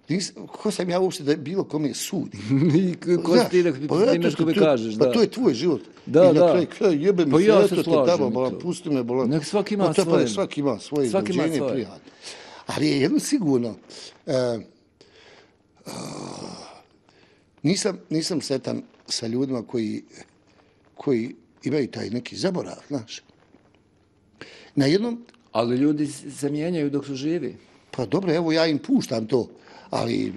nis, ko sam ja uopšte da bilo kome sudi? I ko si ti da pa eto, primeš ko mi to- kažeš, da. Pa to je tvoj život. Da, I na da. kraju kraja jebe mi Pa se, ja eto se te slažem tamo, i bolan, to. pusti me, bolan. Nek svaki ima Pa to pa svoje. nek svaki ima svoje Svaki ima rođenje, svoje. prijatno. Ali je jedno sigurno, e, a, nisam, nisam sretan sa ljudima koji, koji imaju taj neki zaborav, znaš. Na jednom, Ali ljudi se mijenjaju dok su živi. pa dobro, evo ja im puštam to, ali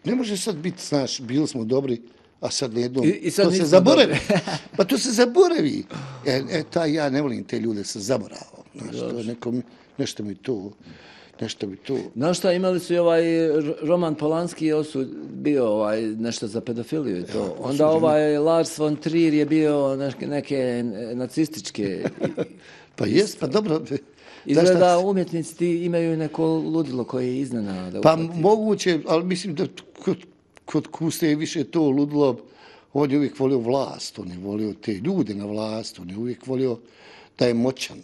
ne može sad biti, znaš, bili smo dobri, a sad jednom, I- i sad to se nismo zaboravi. dobri. Pa to se zaboravi. E, e, taj, ja ne volim te ljude sa zaboravom. Znaš, to je neko, nešto mi to, nešto mi to. Znaš šta, imali su i ovaj R- Roman Polanski je osud, bio ovaj, nešto za pedofiliju i to. Onda ovaj Lars von Trier je bio neke, neke nacističke... Pa jest, pa dobro. znaš Izgleda šta- umjetnici ti imaju neko ludilo koje je iznenada. Pa uhvati. moguće, ali mislim da kod, kod Kuste je više to ludilo. On je uvijek volio vlast, on je volio te ljude na vlast, on je uvijek volio da je moćan,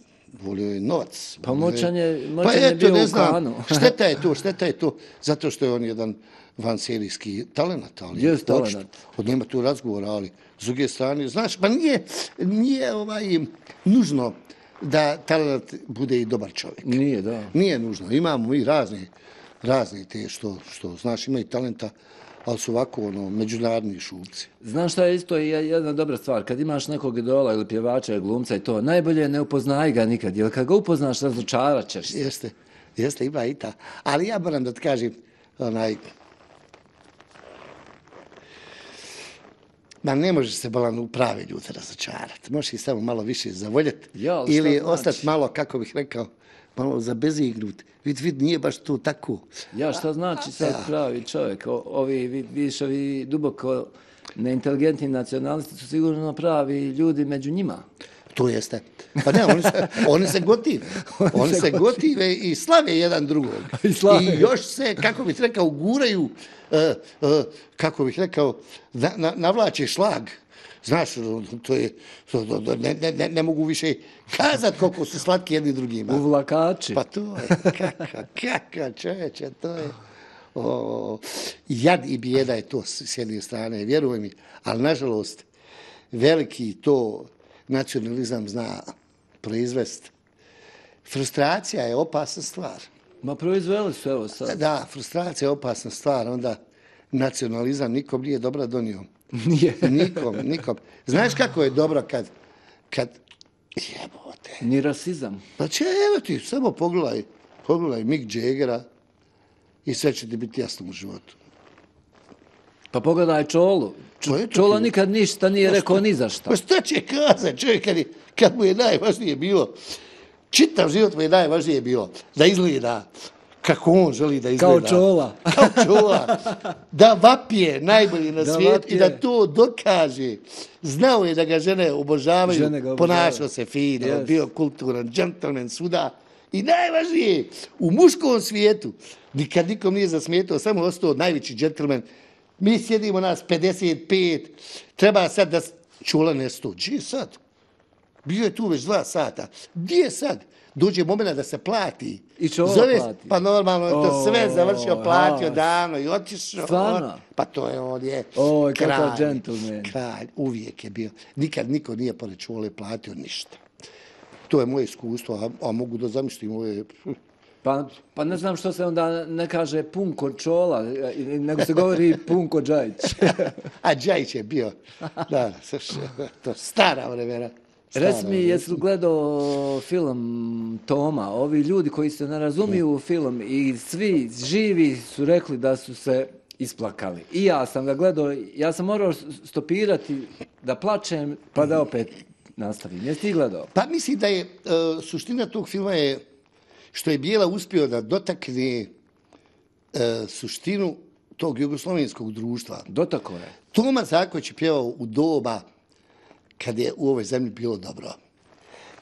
volio je novac. Pa volio moćan je- Pa moćan je eto, bio ne u znam, Kanu. šteta je to, šteta je to, zato što je on jedan vanserijski talenat, ali Jest očito, talenat. od nema tu razgovora, ali s druge strane, znaš, pa nije, nije ovaj, nužno da talenat bude i dobar čovjek. Nije, da. Nije nužno. Imamo i razne, razne te što, što znaš, imaju talenta, ali su ovako ono, međunarodni šupci. Znaš šta je isto i jedna dobra stvar, kad imaš nekog idola ili pjevača ili glumca i to, najbolje ne upoznaj ga nikad, jer kad ga upoznaš, razočarat ćeš se. Jeste, jeste, ima i ta. Ali ja moram da ti kažem, onaj, ma ne možeš se bolan u prave ljude razočarati. Možeš ih samo malo više zavoljeti. Ja, ali šta ili znači? ostati malo, kako bih rekao, malo zabezignut. Vid, vid, nije baš to tako. Ja, šta znači sad pravi čovjek? O, ovi, vi- vidiš, ovi duboko neinteligentni nacionalisti su sigurno pravi ljudi među njima. To jeste. Pa ne, oni se, oni se gotive. Oni se gotive i slave jedan drugog. I slave. I još se, kako bih rekao, guraju, uh, uh, kako bih rekao, na, na, navlače šlag. Znaš, to je, to, to, to, ne, ne, ne, ne mogu više kazat koliko su slatki jedni drugima. Uvlakači. Pa to je, kaka, kaka čoveče, to je, o, jad i bijeda je to s s jedne strane, vjeruj mi, ali nažalost, veliki to, nacionalizam zna proizvesti. Frustracija je opasna stvar. Ma proizveli su, evo sad. Da, frustracija je opasna stvar, onda nacionalizam nikom nije dobro donio. Nije. Nikom, nikom. Znaš kako je dobro kad, kad jebote. Ni rasizam. Znači, evo ti, samo pogledaj, pogledaj Mick Jaggera i sve će ti biti jasno u životu. Pa pogledaj Čolu. Pa eto Čola ti. nikad ništa nije rekao ni za šta. Pa šta će kazati čovjek kad, je, kad mu je najvažnije bilo, čitav život mu je najvažnije bilo da izgleda kako on želi da izgleda. Kao Čola. Kao Čola. Da vapije najbolji na Da svijetu vapije. i da to dokaže. Znao je da ga žene obožavaju, Žene ga obožavaju. ponašao se fino, Yes. bio kulturan, džentlmen svuda. I najvažnije, u muškom svijetu, nikad nikom nije zasmetao, samo ostao najveći džentlmen. Mi sjedimo nas pedeset pet, treba sad da... Čula nesto, gdje je sad? Bio je tu već dva sata. Gdje je sad? Dođe moment da se plati. I Čola Zove, plati. Pa normalno je to sve O, završio, platio ha. davno i otišao. Stvarno? Pa to je on je Oj, kakav kralj. džentlmen. Kralj, uvijek je bio. Nikad niko nije pored Čole platio ništa. To je moje iskustvo, a, a mogu da zamislim ove... Pa, pa ne znam što se onda ne kaže Punko Čola, nego se govori Punko Džajić. A Džajić je bio, da, to stara vremena. Reci mi, jesi li gledao film Toma? Ovi ljudi koji se ne razumiju u film i svi živi su rekli da su se isplakali. I ja sam ga gledao, ja sam morao stopirati da plačem, pa da opet nastavim. Jesi ti gledao? Pa mislim da je, uh, suština tog filma je što je Bijela uspio da dotakne uh, suštinu tog jugoslovenskog društva. Dotako je. Toma Zaković je pjevao u doba kad je u ovoj zemlji bilo dobro.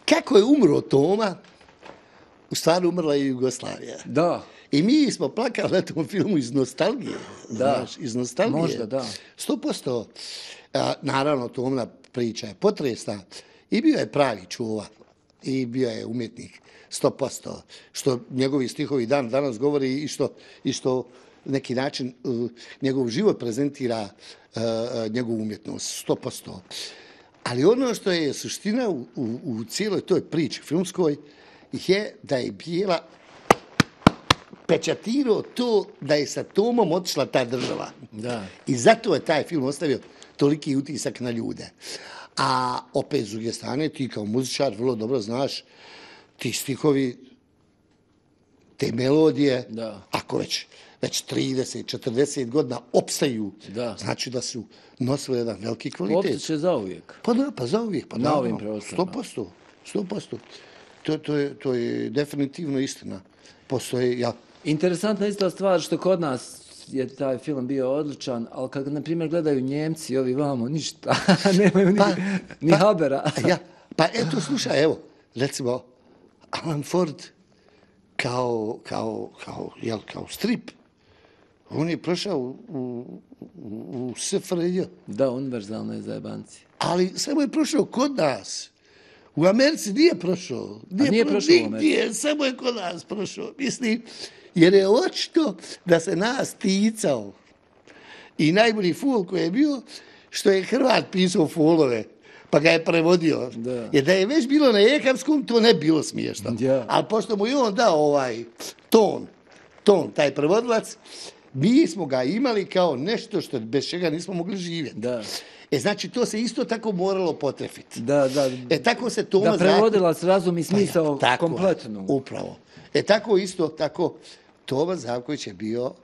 Kako je umro Toma, u stvari umrla je Jugoslavija. Da. I mi smo plakali na tom filmu iz nostalgije. Da. Znaš, iz nostalgije. Možda, da. sto posto. A, naravno, Tomna priča je potresna. I bio je pravi čuva. I bio je umjetnik. sto posto. Što njegovi stihovi dan danas govori i što, i što neki način uh, njegov život prezentira uh, uh, njegovu umjetnost. sto posto. Ali ono što je suština u, u, u cijeloj toj priči filmskoj je da je Bijela pečatirao to da je sa Tomom otišla ta država. Da. I zato je taj film ostavio toliki utisak na ljude. A opet s druge strane, ti kao muzičar vrlo dobro znaš, ti stihovi, te melodije, Da. ako već, već trideset četrdeset godina opstaju, Da. znači da su nosili jedan veliki kvalitet. Opet će zauvijek. Pa da, pa za uvijek. Pa Na naravno, ovim prostorima. sto posto. sto posto. To, to, je, to je definitivno istina. Postoje, ja, Interesantna isto stvar što kod nas je taj film bio odličan, ali kad, na primjer, gledaju Njemci, ovi vamo, ništa, nemaju ni, Pa, ni pa, habera. ja, pa eto, slušaj, evo, recimo, Alan Ford kao, kao, kao, jel, kao strip, on je prošao u, u, u, u S F R J, Da, univerzalne zajebanci. ali samo je prošao kod nas. U Americi nije prošao. A nije pro- prošao u Americi? Nigdje, samo je kod nas prošao. Mislim, jer je očito da se nas ticao. I najbolji fol koji je bio, što je Hrvat pisao folove, pa ga je prevodio. Da. Jer da je već bilo na ekavskom, to ne bi bilo smiješno. Ja. Ali pošto mu je on dao ovaj ton, ton, taj prevodilac, mi smo ga imali kao nešto što bez čega nismo mogli živjeti. Da. E, znači, to se isto tako moralo potrefiti. Da, da. E, tako se Toma Da prevodila s razum i smisao Pa ja, tako je, kompletno. Upravo. E, tako isto, tako, Toma Zavković je bio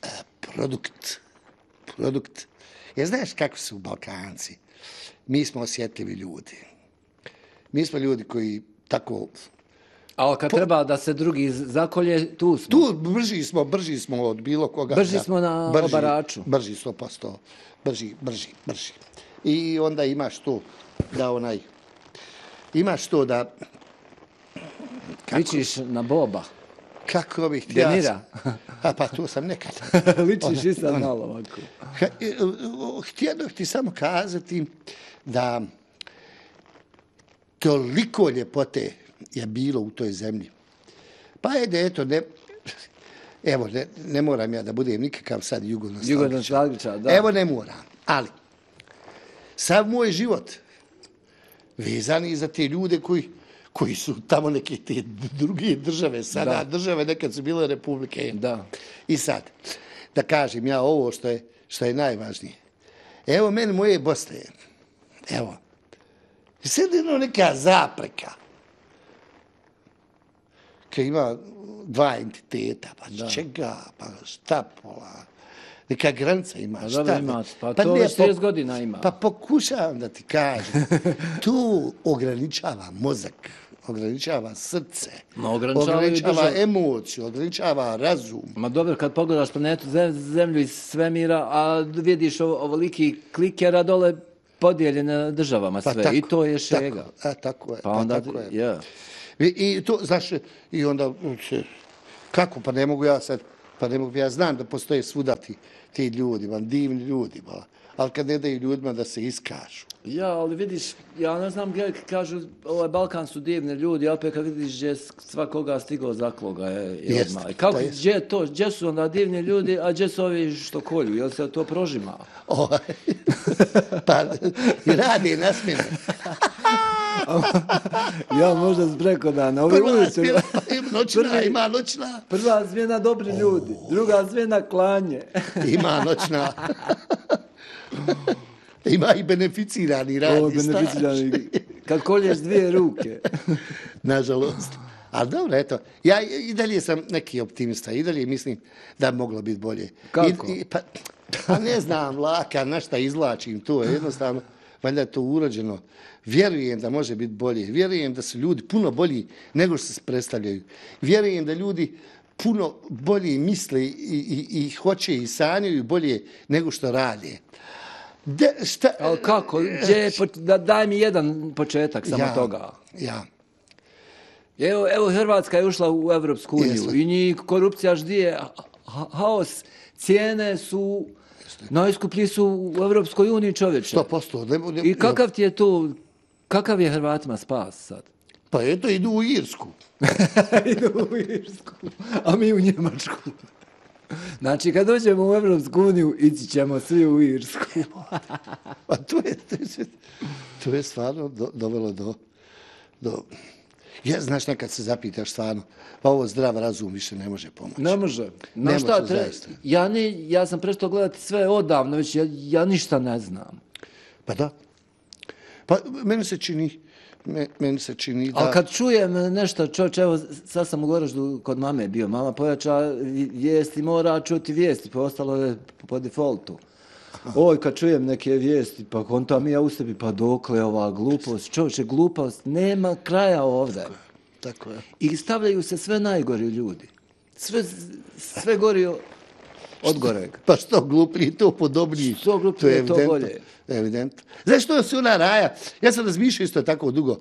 e, produkt. Produkt. Jer znaš kako su Balkanci? Mi smo osjetljivi ljudi. Mi smo ljudi koji tako... Ali kad treba da se drugi zakolje, tu smo. Tu brži smo, brži smo od bilo koga. Brži da, smo na brži, obaraču. Brži, sto posto. Brži, brži, brži. I onda imaš to da onaj... Imaš to da... Ličiš na Boba. Kako bih htio... Denira. A pa to sam nekad. Ličiš i sad malo ovako. Ha, e, htio bih ti samo kazati da toliko ljepote je bilo u toj zemlji. Pa ajde, eto, ne, evo, ne, ne moram ja da budem nikakav sad jugonostalgičar. Jugonostalgičar, da. Evo, ne moram, ali sav moj život vezani za te ljude koji, koji su tamo neke te druge države, sada Da. države nekad su bile republike. Da. I sad, da kažem ja ovo što je, što je najvažnije. Evo meni moje Bosne, evo, i sad jedno neka zapreka. Kad ima dva entiteta, pa Da. čega, pa šta pola, neka granica ima, Pa šta dobro ne. ima, pa Pa to ne, već pa- trideset godina ima. Pa pokušavam da ti kažem, to ograničava mozak, ograničava srce, Ma ograničava i ograničava državu. emociju, ograničava razum. Ma dobro, kad pogledaš planetu Zem- Zemlju iz svemira, a vidiš ovo- ovoliki klikera dole podijeljene državama Pa sve. tako, I to je šega. Tako, a, tako je, Pa onda, tako je. ja. I, I to, znaš, i onda, se, kako, pa ne mogu ja sad, pa ne mogu, ja znam da postoje svuda ti, ti ljudi, man, divni ljudi, ba, ali kad ne daju ljudima da se iskažu. Ja, ali vidiš, ja ne znam gdje kažu, ovaj Balkan su divni ljudi, a opet kad vidiš gdje svakoga stigao zakloga je, je Jest, odmah. I kako, to jest. gdje je to, gdje su onda divni ljudi, a gdje su ovi što kolju, jel se to prožima? Ovaj, pa, i radi na smjenu. Ja možda preko dana, ovi Prva ujutro, smjena, ima noćna, Prvi- ima noćna, prva smjena dobri ljudi, druga smjena klanje. ima noćna. Ima i beneficirani radi Ovo staž. beneficirani, kad kolješ dvije ruke. Nažalost. Ali dobro, eto, ja i dalje sam neki optimista, i dalje mislim da bi moglo biti bolje. Kako? I, i, pa, pa ne znam, laka, na šta izvlačim to, jednostavno, valjda je to urođeno. Vjerujem da može biti bolje, vjerujem da su ljudi puno bolji nego što se predstavljaju. Vjerujem da ljudi puno bolje misle i, i, i hoće i sanjaju bolje nego što rade. De, šta, Ali kako, gdje je, poč- da, daj mi jedan početak samo ja, toga. Ja, Evo, evo Hrvatska je ušla u Evropsku uniju Jeste. i njih korupcija ždije, ha- haos, cijene su, najskuplji su u Evropskoj uniji čovječe. sto posto. Ne, ne, I kakav ti je tu, kakav je Hrvatima spas sad? Pa eto, idu u Irsku. Idu u Irsku, a mi u Njemačku. Znači, kad dođemo u Evropsku uniju, ići ćemo svi u Irsku. Pa to je, to je, to je stvarno do, dovelo do, do... Ja, znaš, nekad se zapitaš stvarno, pa ovo zdrav razum više ne može pomoći. Ne može. Ne Na šta može, tre- zaista. Ja, ne, ja sam prestao gledati sve odavno, već ja, ja ništa ne znam. Pa da. Pa meni se čini, me, meni se čini da... Ali kad čujem nešto, čovječ, evo, sad sam u Goraždu kod mame bio, mama pojača vijesti, mora čuti vijesti, pa ostalo je po defaultu. Oj, kad čujem neke vijesti, pa kontam ja u sebi, pa dokle ova glupost, čovječe, glupost, nema kraja ovdje. Tako je. I stavljaju se sve najgori ljudi. Sve, sve gori od goreg. Pa što gluplji, to podobniji. Što gluplji je to evidentno, bolje. Evidentno. Znaš što su ona raja? Ja sam razmišljao isto tako dugo.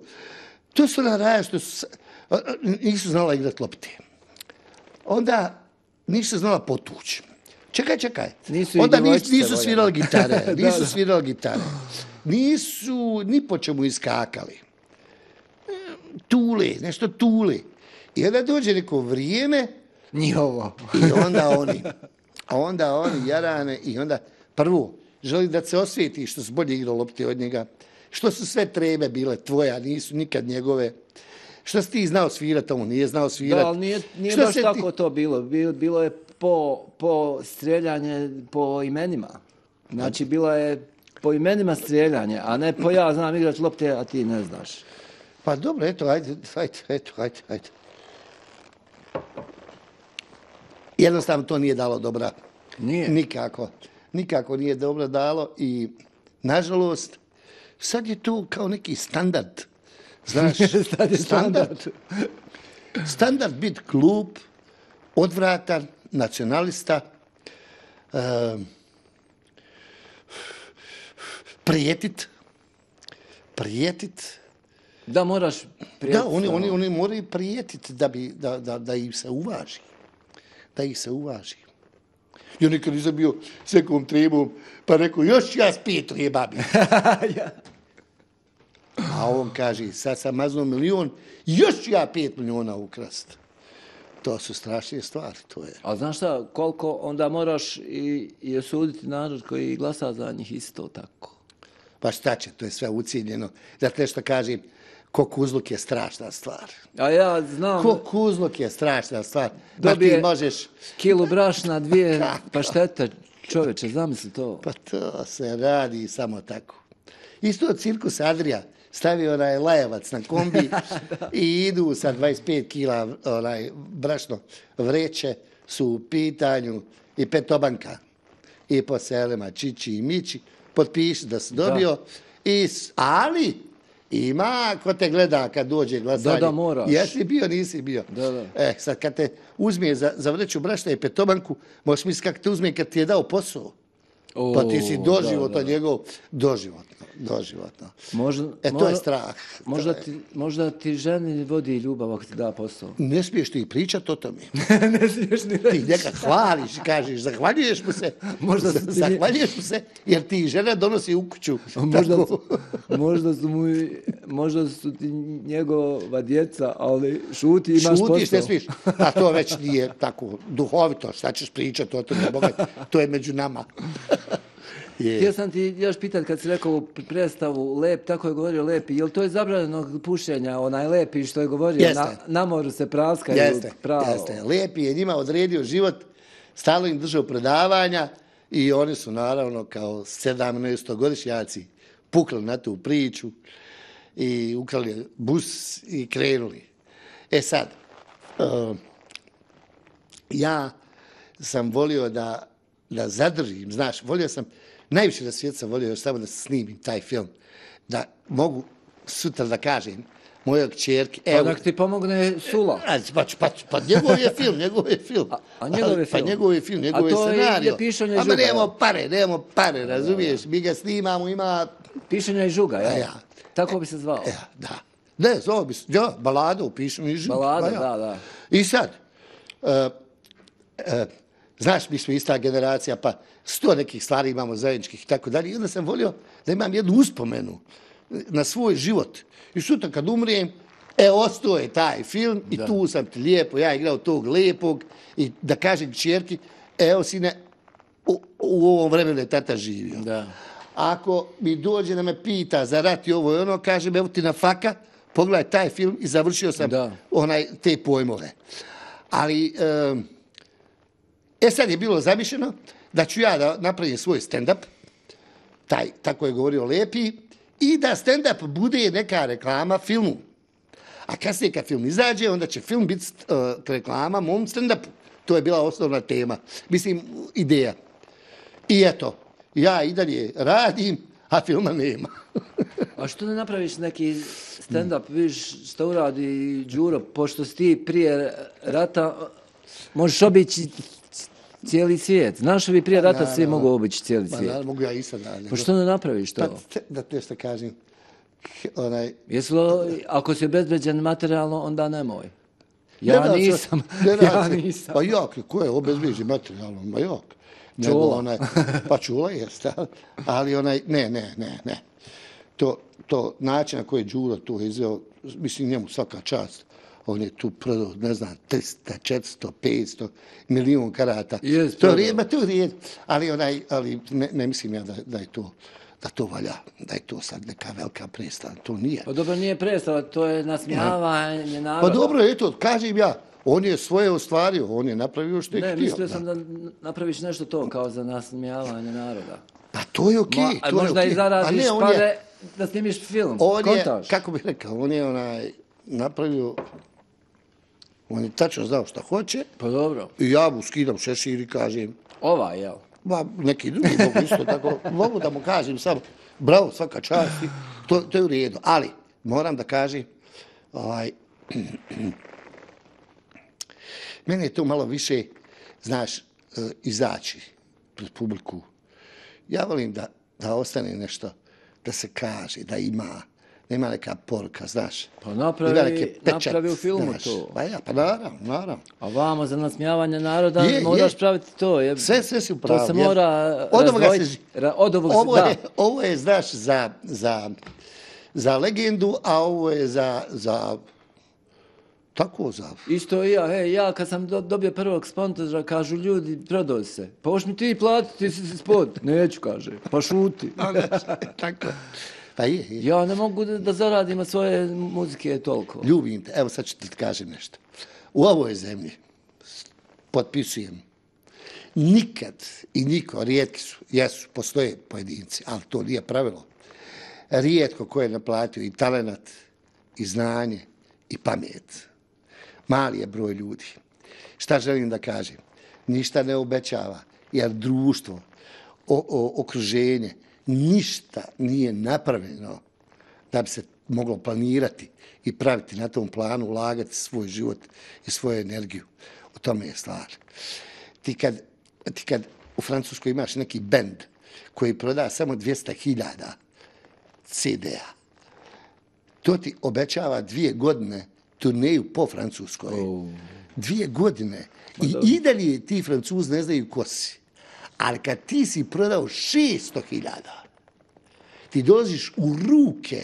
To su ona raja što su, a, a, nisu znala igrati lopte. Onda nisu znala potući. Čekaj, čekaj. Nisu i Onda nisu, djevojčice nisu voljele. svirali gitare. Da, Nisu da. svirali gitare. Nisu ni po čemu iskakali. Tule, nešto tule. I onda dođe neko vrijeme Njihovo. i onda oni, a onda oni jarane i onda prvo želi da se osvijeti što su bolje igrao lopte od njega, što su sve trebe bile tvoje, a nisu nikad njegove, što si ti znao svirati, a on nije znao svirati. Da, ali nije, nije Što baš se tako to bilo. Bilo, bilo je po, po strijeljanje po imenima. Znači, bilo je po imenima strijeljanje, a ne po ja znam igrati lopte, a ti ne znaš. Pa dobro, eto, ajde, ajde, eto, ajde, ajde. Jednostavno to nije dalo dobra. Nije. Nikako. Nikako nije dobro dalo i, nažalost, sad je to kao neki standard. Znaš, Sad je standard. Standard bit glup, odvratan, nacionalista, um, prijetit, prijetit. Da, moraš prijeti. Da, oni, oni, oni moraju prijetiti da, bi, da, da, da ih se uvaži. Da ih se uvaži. Ja nikad nisam bio s nekom trebom, pa rekao, još ja spijetu je babi. Ja. A on kaže, sad sam maznuo milion, još ću ja pet miliona ukrast. To su strašne stvari, to je. A znaš šta, koliko onda moraš i, i osuditi narod koji glasa za njih isto tako. Pa šta će, to je sve ucijenjeno. Zato nešto kažem, kokuzluk je strašna stvar. A ja znam... Kokuzluk je strašna stvar. Dobije ti možeš... kilu brašna, dvije paštete, čovječe, zamisli to. Pa to se radi samo tako. Isto cirkus Adrija stavio onaj lajevac na kombi i idu sa dvadeset pet kila onaj brašno vreće, su u pitanju i petobanka. I po selima Čiči i Mići potpiši da si dobio. Da. I, ali ima ko te gleda kad dođe glasanje. Da, da, moraš. Jesi bio, nisi bio. Da, da. E, sad kad te uzme za, za vreću brašna i petobanku, možeš misliti kako te uzme kad ti je dao posao. O, pa ti si doživotno njegov, doživotno, doživotno. Možda, e, to možda, je strah. Možda, to je. Ti, možda ti ženi vodi ljubav ako ti da posao. Ne smiješ ti pričati o tome. Ne smiješ ni reći. Ti njega hvališ i kažeš, zahvaljuješ mu se, možda ti... zahvaljuješ mu se, jer ti žena donosi u kuću. Možda, možda, su mu, možda su ti njegova djeca, ali šuti, imaš Šutiš, posao. Šutiš, ne smiješ. A to već nije tako duhovito. Šta ćeš pričati o tome? To je među nama. Yeah. Htio sam ti još pitati kad si rekao u predstavu Lep, tako je govorio Lepi, je li to je zabranjeno pušenja, onaj Lepi što je govorio, na, na moru se praskaju jeste, pravo. Jeste, Lepi je njima odredio život, stalno im držao predavanja i oni su naravno kao sedamnaestogodišnjaci pukli na tu priču i ukrali bus i krenuli. E sad, uh, ja sam volio da, da zadržim, znaš, volio sam, najviše na svijetu sam volio još samo da snimim taj film, da mogu sutra da kažem mojoj kćerki... Pa nek ti pomogne Sula. Pa, pa, pa njegov je film, njegov je film. A, a njegov je film? Pa njegov je film, njegov je scenario. A to je pišanje i žuga. Ama nemamo pare, nemamo pare, razumiješ, mi ga snimamo, ima... Pišanje i žuga, ja? ja. Tako bi se zvao? Ja, da. Ne, zvao bi se, ja, balada u pišanju i žuga. Balada, ja. da, da. I sad, uh, uh, znaš, mi smo ista generacija, pa sto nekih stvari imamo zajedničkih i tako dalje. I onda sam volio da imam jednu uspomenu na svoj život. I sutra kad umrijem, e, ostao je taj film i da. Tu sam ti lijepo, ja igrao tog lijepog i da kažem kćerki, evo sine, u, u ovom vremenu je tata živio. Da. Ako mi dođe da me pita za rat i ovo i ono, kažem, evo ti na faka, pogledaj taj film i završio sam da. onaj te pojmove. Ali... Um, E sad je bilo zamišljeno da ću ja da napravim svoj stand-up, taj, tako je govorio Lepi, i da stand-up bude neka reklama filmu. A kasnije kad film izađe, onda će film biti uh, reklama mom stand-upu. To je bila osnovna tema. Mislim, ideja. I eto, ja i dalje radim, a filma nema. A što ne napraviš neki stand-up, viš što uradi Đuro, pošto si ti prije rata, možeš obići cijeli svijet. Znaš li bi prije rata svi mogu obići cijeli svijet? Pa mogu ja i sad. Pa što ne napraviš to? Pa te, da te što kažem. Onaj... Jesu li, ako si obezbeđen materijalno, onda nemoj. Ja ne nisam. Ne ja nisam. Pa jak, ko je obezbeđen materijalno? Ma jak. Čula. Onaj, pa čula jeste. Ali onaj, ne, ne, ne, ne. To, to način na koji je Đuro to izveo, mislim njemu svaka čast. On je tu prodao, ne znam, tristo, četiristo, petsto, milijun karata. Yes, to je rijed, to je rijed. Ali, onaj, ali ne, ne mislim ja da, da je to da to valja, da je to sad neka velika predstava. To nije. Pa dobro, nije predstava, to je nasmijavanje naroda. Pa dobro, eto, kažem ja, on je svoje ostvario, on je napravio što je htio. Ne, mislio sam da napraviš nešto to kao za nasmijavanje naroda. Pa to je okej. Okay, Ma, možda okay. i zaradiš ne, pare je, da snimiš film. On Kontaš. je, kako bih rekao, on je onaj napravio, on je tačno znao šta hoće. Pa dobro. I ja mu skidam šešir i kažem... Ova, jel? Ba, neki drugi mogu isto tako. Mogu da mu kažem samo, bravo, svaka čast. To, to je u redu. Ali, moram da kažem, ovaj, meni je to malo više, znaš, izaći pred publiku. Ja volim da, da ostane nešto, da se kaže, da ima, da ima neka poruka, znaš. Pa napravi, pečat, napravi u filmu znaš. To. Pa ja, pa naravno, naravno. A vamo za nasmijavanje naroda je, moraš je. praviti to. Je, sve, sve si upravo. To se mora razdvojiti. Od ovog ovo, da. je, ovo je, znaš, za, za, za legendu, a ovo je za, za Tako za... Isto i ja, hej, ja kad sam do, dobio prvog sponzora, kažu ljudi, prodoj se. Pa hoš mi ti platiti, ti si spod. Neću, kaže, pa šuti. Tako. Pa je, je. Ja ne mogu da, da zaradim od svoje muzike toliko. Ljubim te, evo sad ću ti kažem nešto. U ovoj zemlji potpisujem nikad i niko, rijetki su, jesu, postoje pojedinci, ali to nije pravilo. Rijetko ko je naplatio i talenat, i znanje, i pamet. Mali je broj ljudi. Šta želim da kažem? Ništa ne obećava, jer društvo, o, o, okruženje, ništa nije napravljeno da bi se moglo planirati i praviti na tom planu, ulagati svoj život i svoju energiju. U tome je stvar. Ti kad, ti kad u Francuskoj imaš neki bend koji proda samo dvjesto hiljada ce de a, to ti obećava dvije godine turneju po Francuskoj. Oh. Dvije godine. I, i dalje ti Francuzi ne znaju ko si. Ali kad ti si prodao šesto hiljada, ti dolaziš u ruke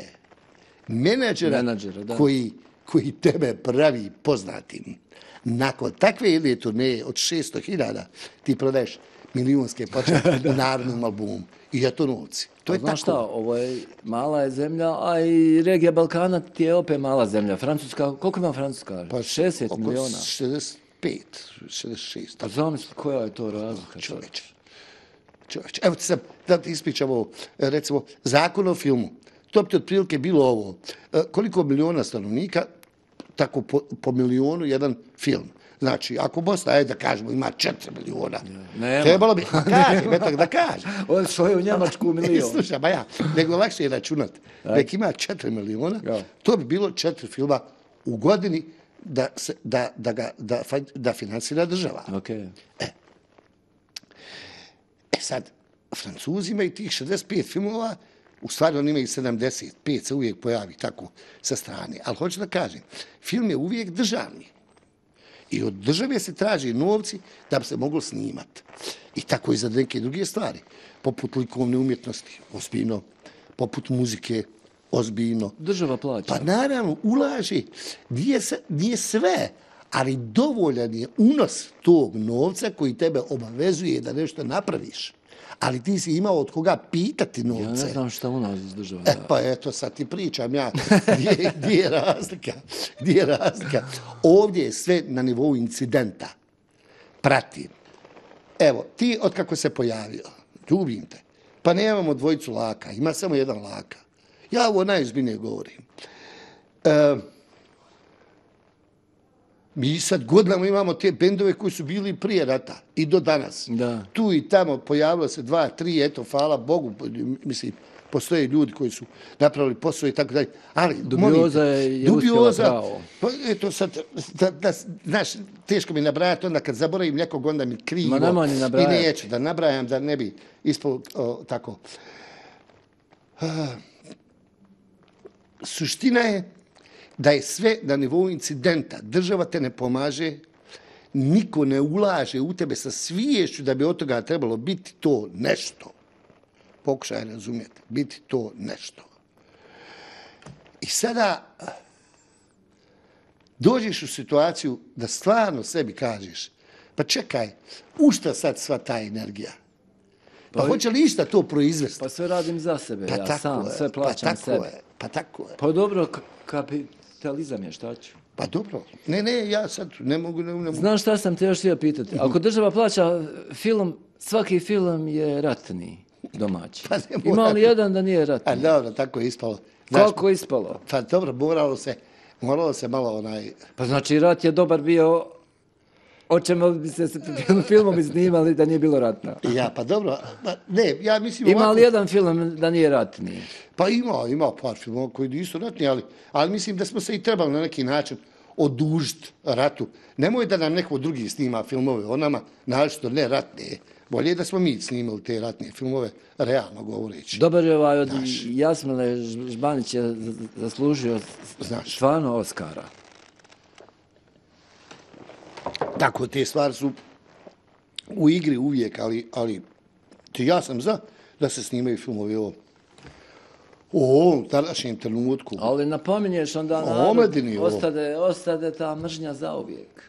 menadžera, menadžera koji, koji tebe pravi poznatim. Nakon takve jedne turneje od šesto hiljada ti prodaješ milijunske početke u narodnom albumu. I je to novci. To je znaš tako. Šta, ovo je mala je zemlja, a i regija Balkana ti je opet mala zemlja. Francuska, koliko ima Francuska? Pa šezdeset miliona. šezdeset pet, šezdeset šest. Pa zamisli koja je to razlika. Čovječe. Čovječe. Evo ti sad da ti ispričam ovo, recimo, zakon o filmu. To bi ti otprilike bilo ovo. Koliko miliona stanovnika, tako po, po milionu jedan film. Znači, ako Bosna, ajde da kažemo, ima četiri miliona, nema. Trebalo bi, kažem, eto da kažem. On svoje u Njemačku milion. Slušaj, ba ja, nego lakše je računat. Nek ima četiri miliona, ja. To bi bilo četiri filma u godini da, se, da, da, ga, da, da finansira država. Okay. E. e sad, Francuzi imaju tih šezdeset pet filmova, u stvari oni imaju sedamdeset pet, se uvijek pojavi tako sa strane. Ali hoću da kažem, film je uvijek državni. I od države se traži novci da bi se moglo snimati. I tako i za neke druge stvari. Poput likovne umjetnosti, ozbiljno. Poput muzike, ozbiljno. Država plaća. Pa naravno, ulaže. Nije, nije sve, ali dovoljan je unos tog novca koji tebe obavezuje da nešto napraviš. Ali ti si imao od koga pitati novce. Ja ne znam šta u nas iz država. E pa eto, sad ti pričam ja. Gdje, gdje je razlika? Gdje je razlika? Ovdje je sve na nivou incidenta. Pratim. Evo, ti od kako se pojavio, ljubim te, pa nemamo dvojicu laka, ima samo jedan laka. Ja ovo najozbiljnije govorim. E, mi sad godinama imamo te bendove koji su bili prije rata i do danas. Da. Tu i tamo pojavilo se dva, tri, eto, hvala Bogu, mislim, postoje ljudi koji su napravili posao i tako dalje. Ali, dubioza je, je uspjela pravo. Pa, eto sad, da, da, znaš, teško mi nabrajati, onda kad zaboravim nekog, onda mi krivo. Ma nema ni nabrajati. I neću da nabrajam, da ne bi ispalo o, tako. Uh, suština je da je sve na nivou incidenta. Država te ne pomaže, niko ne ulaže u tebe sa sviješću da bi od toga trebalo biti to nešto. Pokušaj razumjeti, biti to nešto. I sada dođeš u situaciju da stvarno sebi kažeš, pa čekaj, u šta sad sva ta energija? Pa, pa hoće li išta to proizvesti? Pa sve radim za sebe, pa ja sam, je, sve plaćam pa sebi. Je, pa tako je. Pa dobro, kapitalizam je, šta ću? Pa dobro. Ne, ne, ja sad ne mogu... Ne, ne mogu. Znaš šta sam te još htio pitati? Ako država plaća film, svaki film je ratni domaći. Pa ima li jedan da nije ratni? A dobro, tako je ispalo. Znaš, kako je ispalo? Pa dobro, moralo se, moralo se malo onaj... Pa znači rat je dobar bio, o čemu bi se filmom iznimali da nije bilo ratna. Ja, pa dobro, pa ne, ja mislim... Ima ovako... li jedan film da nije ratni? Pa ima, ima par filmova koji nisu ratni, ali, ali mislim da smo se i trebali na neki način odužiti ratu. Nemoj da nam neko drugi snima filmove o nama, naročito ne ratne. Bolje da smo mi snimali te ratne filmove, realno govoreći. Dobar je ovaj od Jasmila Žbanić je zaslužio Znaš. stvarno Oskara. Tako, te stvari su u igri uvijek, ali, ali ja sam za da se snimaju filmovi o, U ovom današnjem trenutku. Ali napominješ onda O omladini narod, ovo. ostade, ostade ta mržnja zauvijek.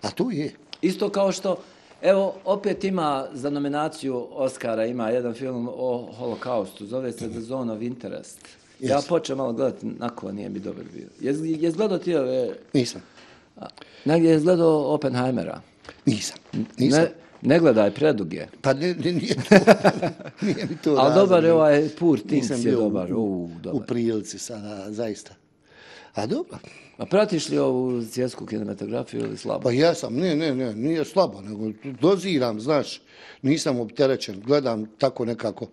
A to je. Isto kao što, evo, opet ima za nominaciju Oscara, ima jedan film o holokaustu, zove se The Zone of Interest. Ja Yes. počeo malo gledati, nako nije mi dobar bio. Jes, jes gledao ti ove... Nisam. Negdje je gledao Oppenheimera. Nisam. Nisam. Ne, ne gledaj, predug je. Pa ne, ne, nije to. Nije mi to Ali razlog. dobar je ovaj Poor Things Nisam je bio dobar. u, U, u dobar. prilici sada, zaista. A dobro. A pratiš li ovu svjetsku kinematografiju ili slabo? Pa jesam, ne, ne, ne, nije slabo, nego doziram, znaš, nisam opterećen, gledam tako nekako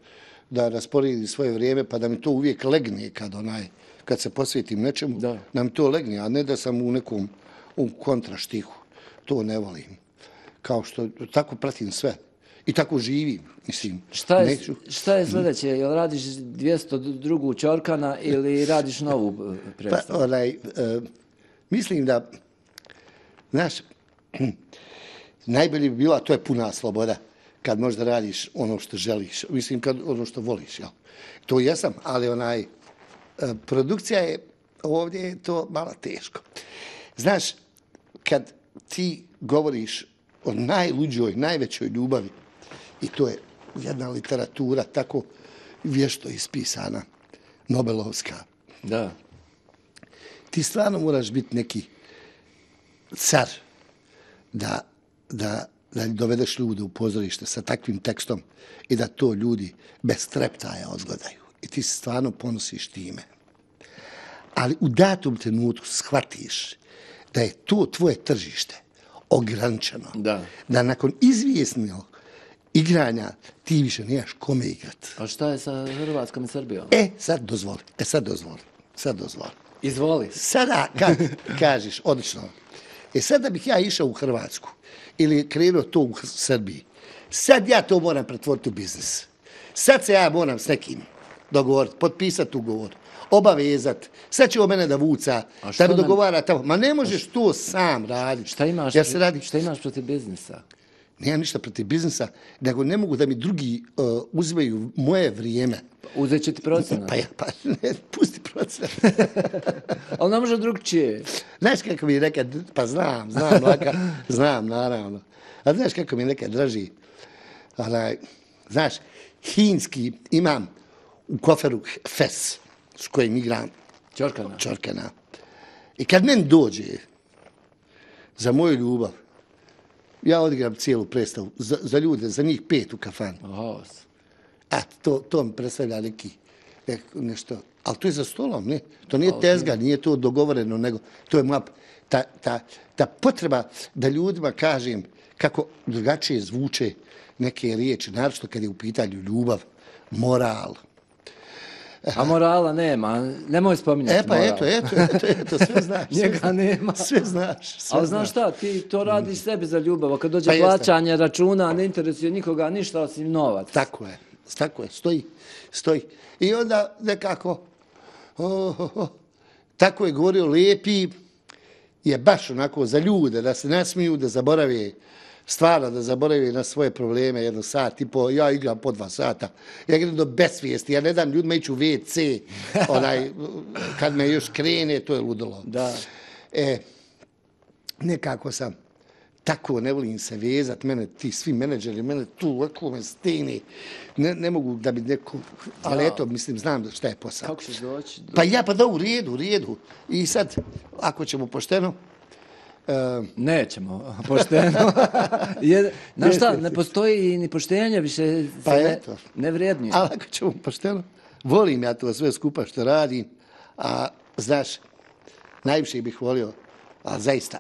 da rasporedim svoje vrijeme, pa da mi to uvijek legne kad onaj, kad se posvetim nečemu, Da. da mi to legne, a ne da sam u nekom u kontraštihu. To ne volim. Kao što tako pratim sve. I tako živim, mislim. Šta je, neću- šta je sljedeće? Jel radiš dvjesto drugu Ćorkana ili radiš novu eh, Pa, predstavu? onaj, e, mislim da, znaš, najbolje bi bila, to je puna sloboda, kad možda radiš ono što želiš, mislim, kad ono što voliš, jel? To jesam, ali onaj, e, produkcija je, ovdje je to malo teško. Znaš, kad ti govoriš o najluđoj, najvećoj ljubavi, i to je jedna literatura tako vješto ispisana, Nobelovska, Da. ti stvarno moraš biti neki car da, da, da dovedeš ljude u pozorište sa takvim tekstom i da to ljudi bez treptaja odgledaju. I ti se stvarno ponosiš time. Ali u datom trenutku shvatiš da je to tvoje tržište ograničeno. Da. Da nakon izvjesnog igranja ti više nemaš kome igrat. A šta je sa Hrvatskom i Srbijom? E, sad dozvoli. E, sad dozvoli. Sad dozvoli. Izvoli. Sada kad kažeš, odlično, e sad da bih ja išao u Hrvatsku ili krenuo to u Srbiji, sad ja to moram pretvoriti u biznis. Sad se ja moram s nekim dogovoriti, potpisati ugovor, obavezati, sad će o mene da vuca, A što da mi nam- dogovara tamo. Ma ne možeš to sam raditi. Šta imaš, Ja se radi, šta imaš protiv biznisa? nemam ništa protiv biznisa, nego ne mogu da mi drugi uh, uzmeju moje vrijeme. Uzet će ti procenat. Pa ja, pa ne, pusti proces. Ali ne može drugčije. Znaš kako mi je nekad, pa znam, znam, laka, znam, naravno. A znaš kako mi je nekad draži, onaj, znaš, hinski imam u koferu fes s kojim igram Ćorkana. Ćorkana. I kad meni dođe za moju ljubav, ja odigram cijelu predstavu za, za ljude, za njih pet u kafanu. Haos. A to, to mi predstavlja neki, nek- nešto, ali to je za stolom, ne? To nije tezga, nije to dogovoreno, nego to je moja, ta, ta, ta potreba da ljudima kažem kako drugačije zvuče neke riječi, naročito kad je u pitanju ljubav, moral. A morala nema. Nemoj spominjati E pa moral. eto, eto, eto, eto, sve znaš. sve Njega znaš, nema. Sve znaš, sve Ali znaš šta, ti to radiš sebi za ljubav. A kad dođe Pa jeste. plaćanje računa, ne interesuje nikoga ništa osim novac. Tako je, tako je, stoji, stoji. I onda nekako, oh, oh, oh, tako je govorio, lijepi je baš onako za ljude, da se nasmiju, da zaborave, stvarno da zaborave na svoje probleme, jedno sat i po, ja igram po dva sata, ja idem do besvijesti, ja ne dam ljudima ići u ve ce, onaj, kad me još krene, to je ludilo. Da. E, nekako sam, tako ne volim se vezat, mene ti svi menadžeri, mene tu ovako me stene, ne, ne mogu da bi neko, ali Da. eto, mislim, znam da šta je posao. Kako ćeš doći? Pa ja, pa da, u redu, u redu. I sad, ako ćemo pošteno, uh, Nećemo, pošteno. Je, znaš šta, ne postoji ni poštenje, više se Pa ne, eto. ne vrijednuje. ali ako ćemo pošteno, volim ja to sve skupa što radim, a znaš, najviše bih volio, a zaista,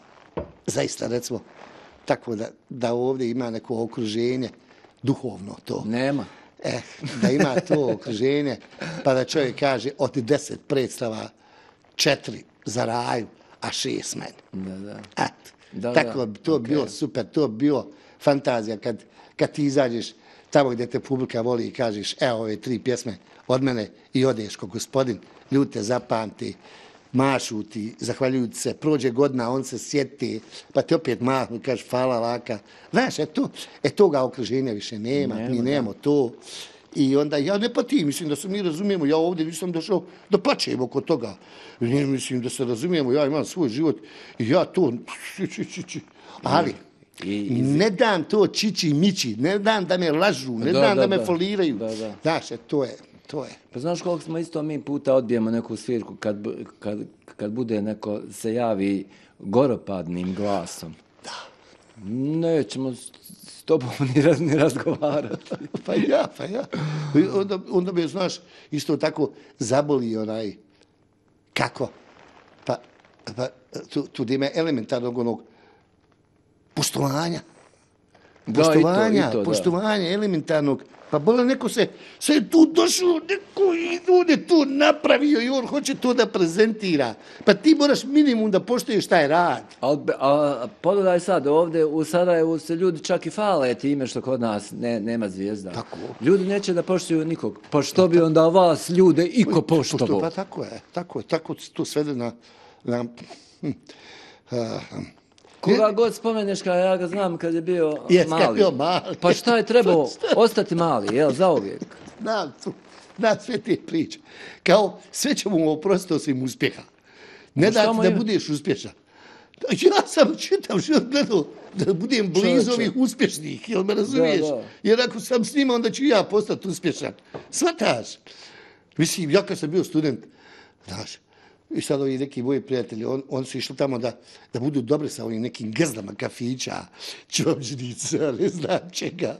zaista, recimo, tako da, da ovdje ima neko okruženje, duhovno to. Nema. Eh, da ima to okruženje, pa da čovjek kaže od deset predstava, četiri za raju, a šest meni. Da, da. Eto, Da, tako da, bi to okej. bilo super, to bi bilo fantazija kad, kad ti izađeš tamo gdje te publika voli i kažeš evo ove tri pjesme od mene i odeš ko gospodin, ljudi te zapamti, mašu ti, zahvaljuju ti se, prođe godina, on se sjeti, pa ti opet mahnu, kaže hvala laka. Znaš, e, to, e toga okruženja više nema, Nema, mi da. nemamo to. I onda ja ne patim, mislim da se mi razumijemo, ja ovdje nisam došao da plačem oko toga. Ne, mislim da se razumijemo, ja imam svoj život i ja to... Ali, I, i, ne dam to čići mići, ne dam da me lažu, ne Da, dam da, da, me da. foliraju. Da, da. Znaš, e, to je, to je. Pa znaš koliko smo isto mi puta odbijemo neku svirku kad, bu- kad, kad bude neko se javi goropadnim glasom. Da. Nećemo s s tobom ni, raz, ni razgovarati. Pa ja, pa ja. I Onda, onda me, znaš, isto tako zaboli onaj, kako? Pa, pa tu, tu gdje ima elementarnog onog poštovanja. Da, i to, Poštovanja, i to, da. poštovanja elementarnog. Pa bole, neko se, se je tu došao, neko ljude tu napravio i on hoće to da prezentira. Pa ti moraš minimum da poštuješ taj rad. A, a pogledaj sad, ovdje u Sarajevu se ljudi čak i fale time što kod nas ne, nema zvijezda. Tako. Ljudi neće da poštuju nikog. Pa što bi onda vas ljude iko Pošto, poštovao? pa tako je, tako je, tako to svede na... na hm, a, Koga god spomeneš, kada ja ga znam kad je bio Jes, kad je mali. bio mali. Pa šta je trebao ostati mali, jel, zauvijek? Znam, tu, znam sve te priče. Kao, sve ćemo mu oprostiti osim uspjeha. Ne Pa šta dati mu da je- budeš uspješan. Ja sam čitav život gledao da budem blizu Čovječe. ovih uspješnih, jel me razumiješ? Da, da. Jer ako sam s njima, onda ću ja postati uspješan. Svataš? Mislim, ja kad sam bio student, znaš, i sad ovi neki moji prijatelji, on, on su išli tamo da, da budu dobri sa ovim nekim gazdama kafića, čočnica, ne znam čega.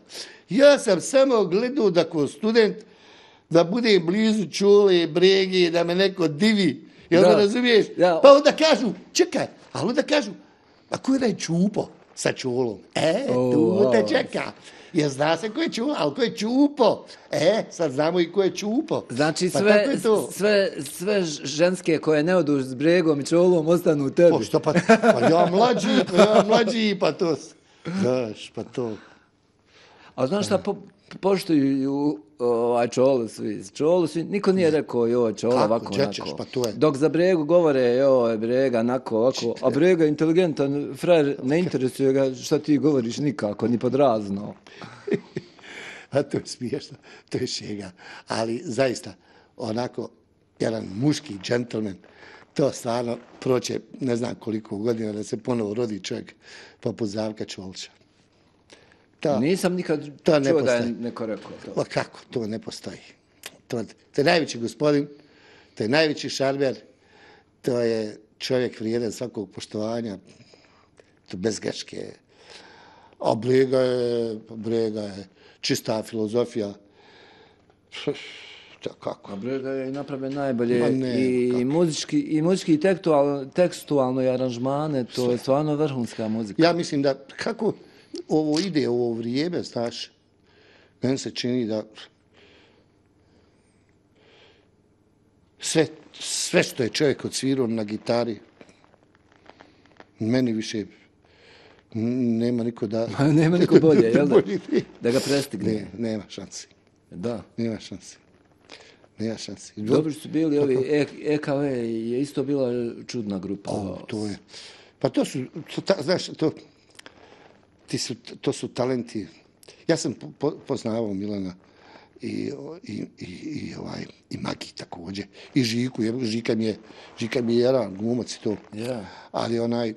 Ja sam samo gledao da ko student, da budem blizu Čule, Brege, da me neko divi. Jel Da. me razumiješ? Da. Pa onda kažu, čekaj, ali onda kažu, a ko je taj Čupo sa Čulom? E, O, tu te wow. čeka. Jer zna se ko je Čulo, ali ko je Čupo? E, sad znamo i ko je Čupo. Znači Pa sve, tako je to. sve, sve ženske koje ne odu s bregom i čolom ostanu u tebi. Pa što pa, pa ja mlađi, pa ja mlađi, pa to, znaš, pa to. A znaš šta, po, poštuju ovaj čolu svi, čolu svi, niko nije rekao joj čola Kako, ovako, đećeš, onako. pa to je. Dok za bregu govore joj brega, onako, ovako, a brega je inteligentan, frajer ne interesuje ga šta ti govoriš nikako, ni pod razno. A to je smiješno, to je šega. Ali zaista, onako, jedan muški džentlmen, to stvarno proće ne znam koliko godina da se ponovo rodi čovjek poput Zdravka Čolića. To, Nisam nikad to ne čuo da je postoji. neko rekao to. Pa kako, to ne postoji. To, to je najveći gospodin, to je najveći šarmer, to je čovjek vrijedan svakog poštovanja, to bez greške. A brega je, brega je čista filozofija. To kako? A brega je napravljen najbolje Ma ne, i kako? muzički, i muzički i tekstualno, tekstualno i aranžmane, to je stvarno vrhunska muzika. Ja mislim da kako ovo ide, ovo vrijeme, znaš, meni se čini da sve, sve što je čovjek odsvirao na gitari, meni više nema niko da... Nema niko bolje, jel da? Bolje ne. Da ga prestigne. Ne, nema šansi. Da. Nema šansi. Nema šansi. Dobri su bili ovi E- EKV je isto bila čudna grupa. O, to je. Pa to su, to, ta, znaš, to, ti su, to su talenti. Ja sam po, po, poznavao Milana i, i, i, i, ovaj, i Magi također. I Žiku, je, Žika mi je, Žika mi je jedan glumac i to. Ja. Ali onaj,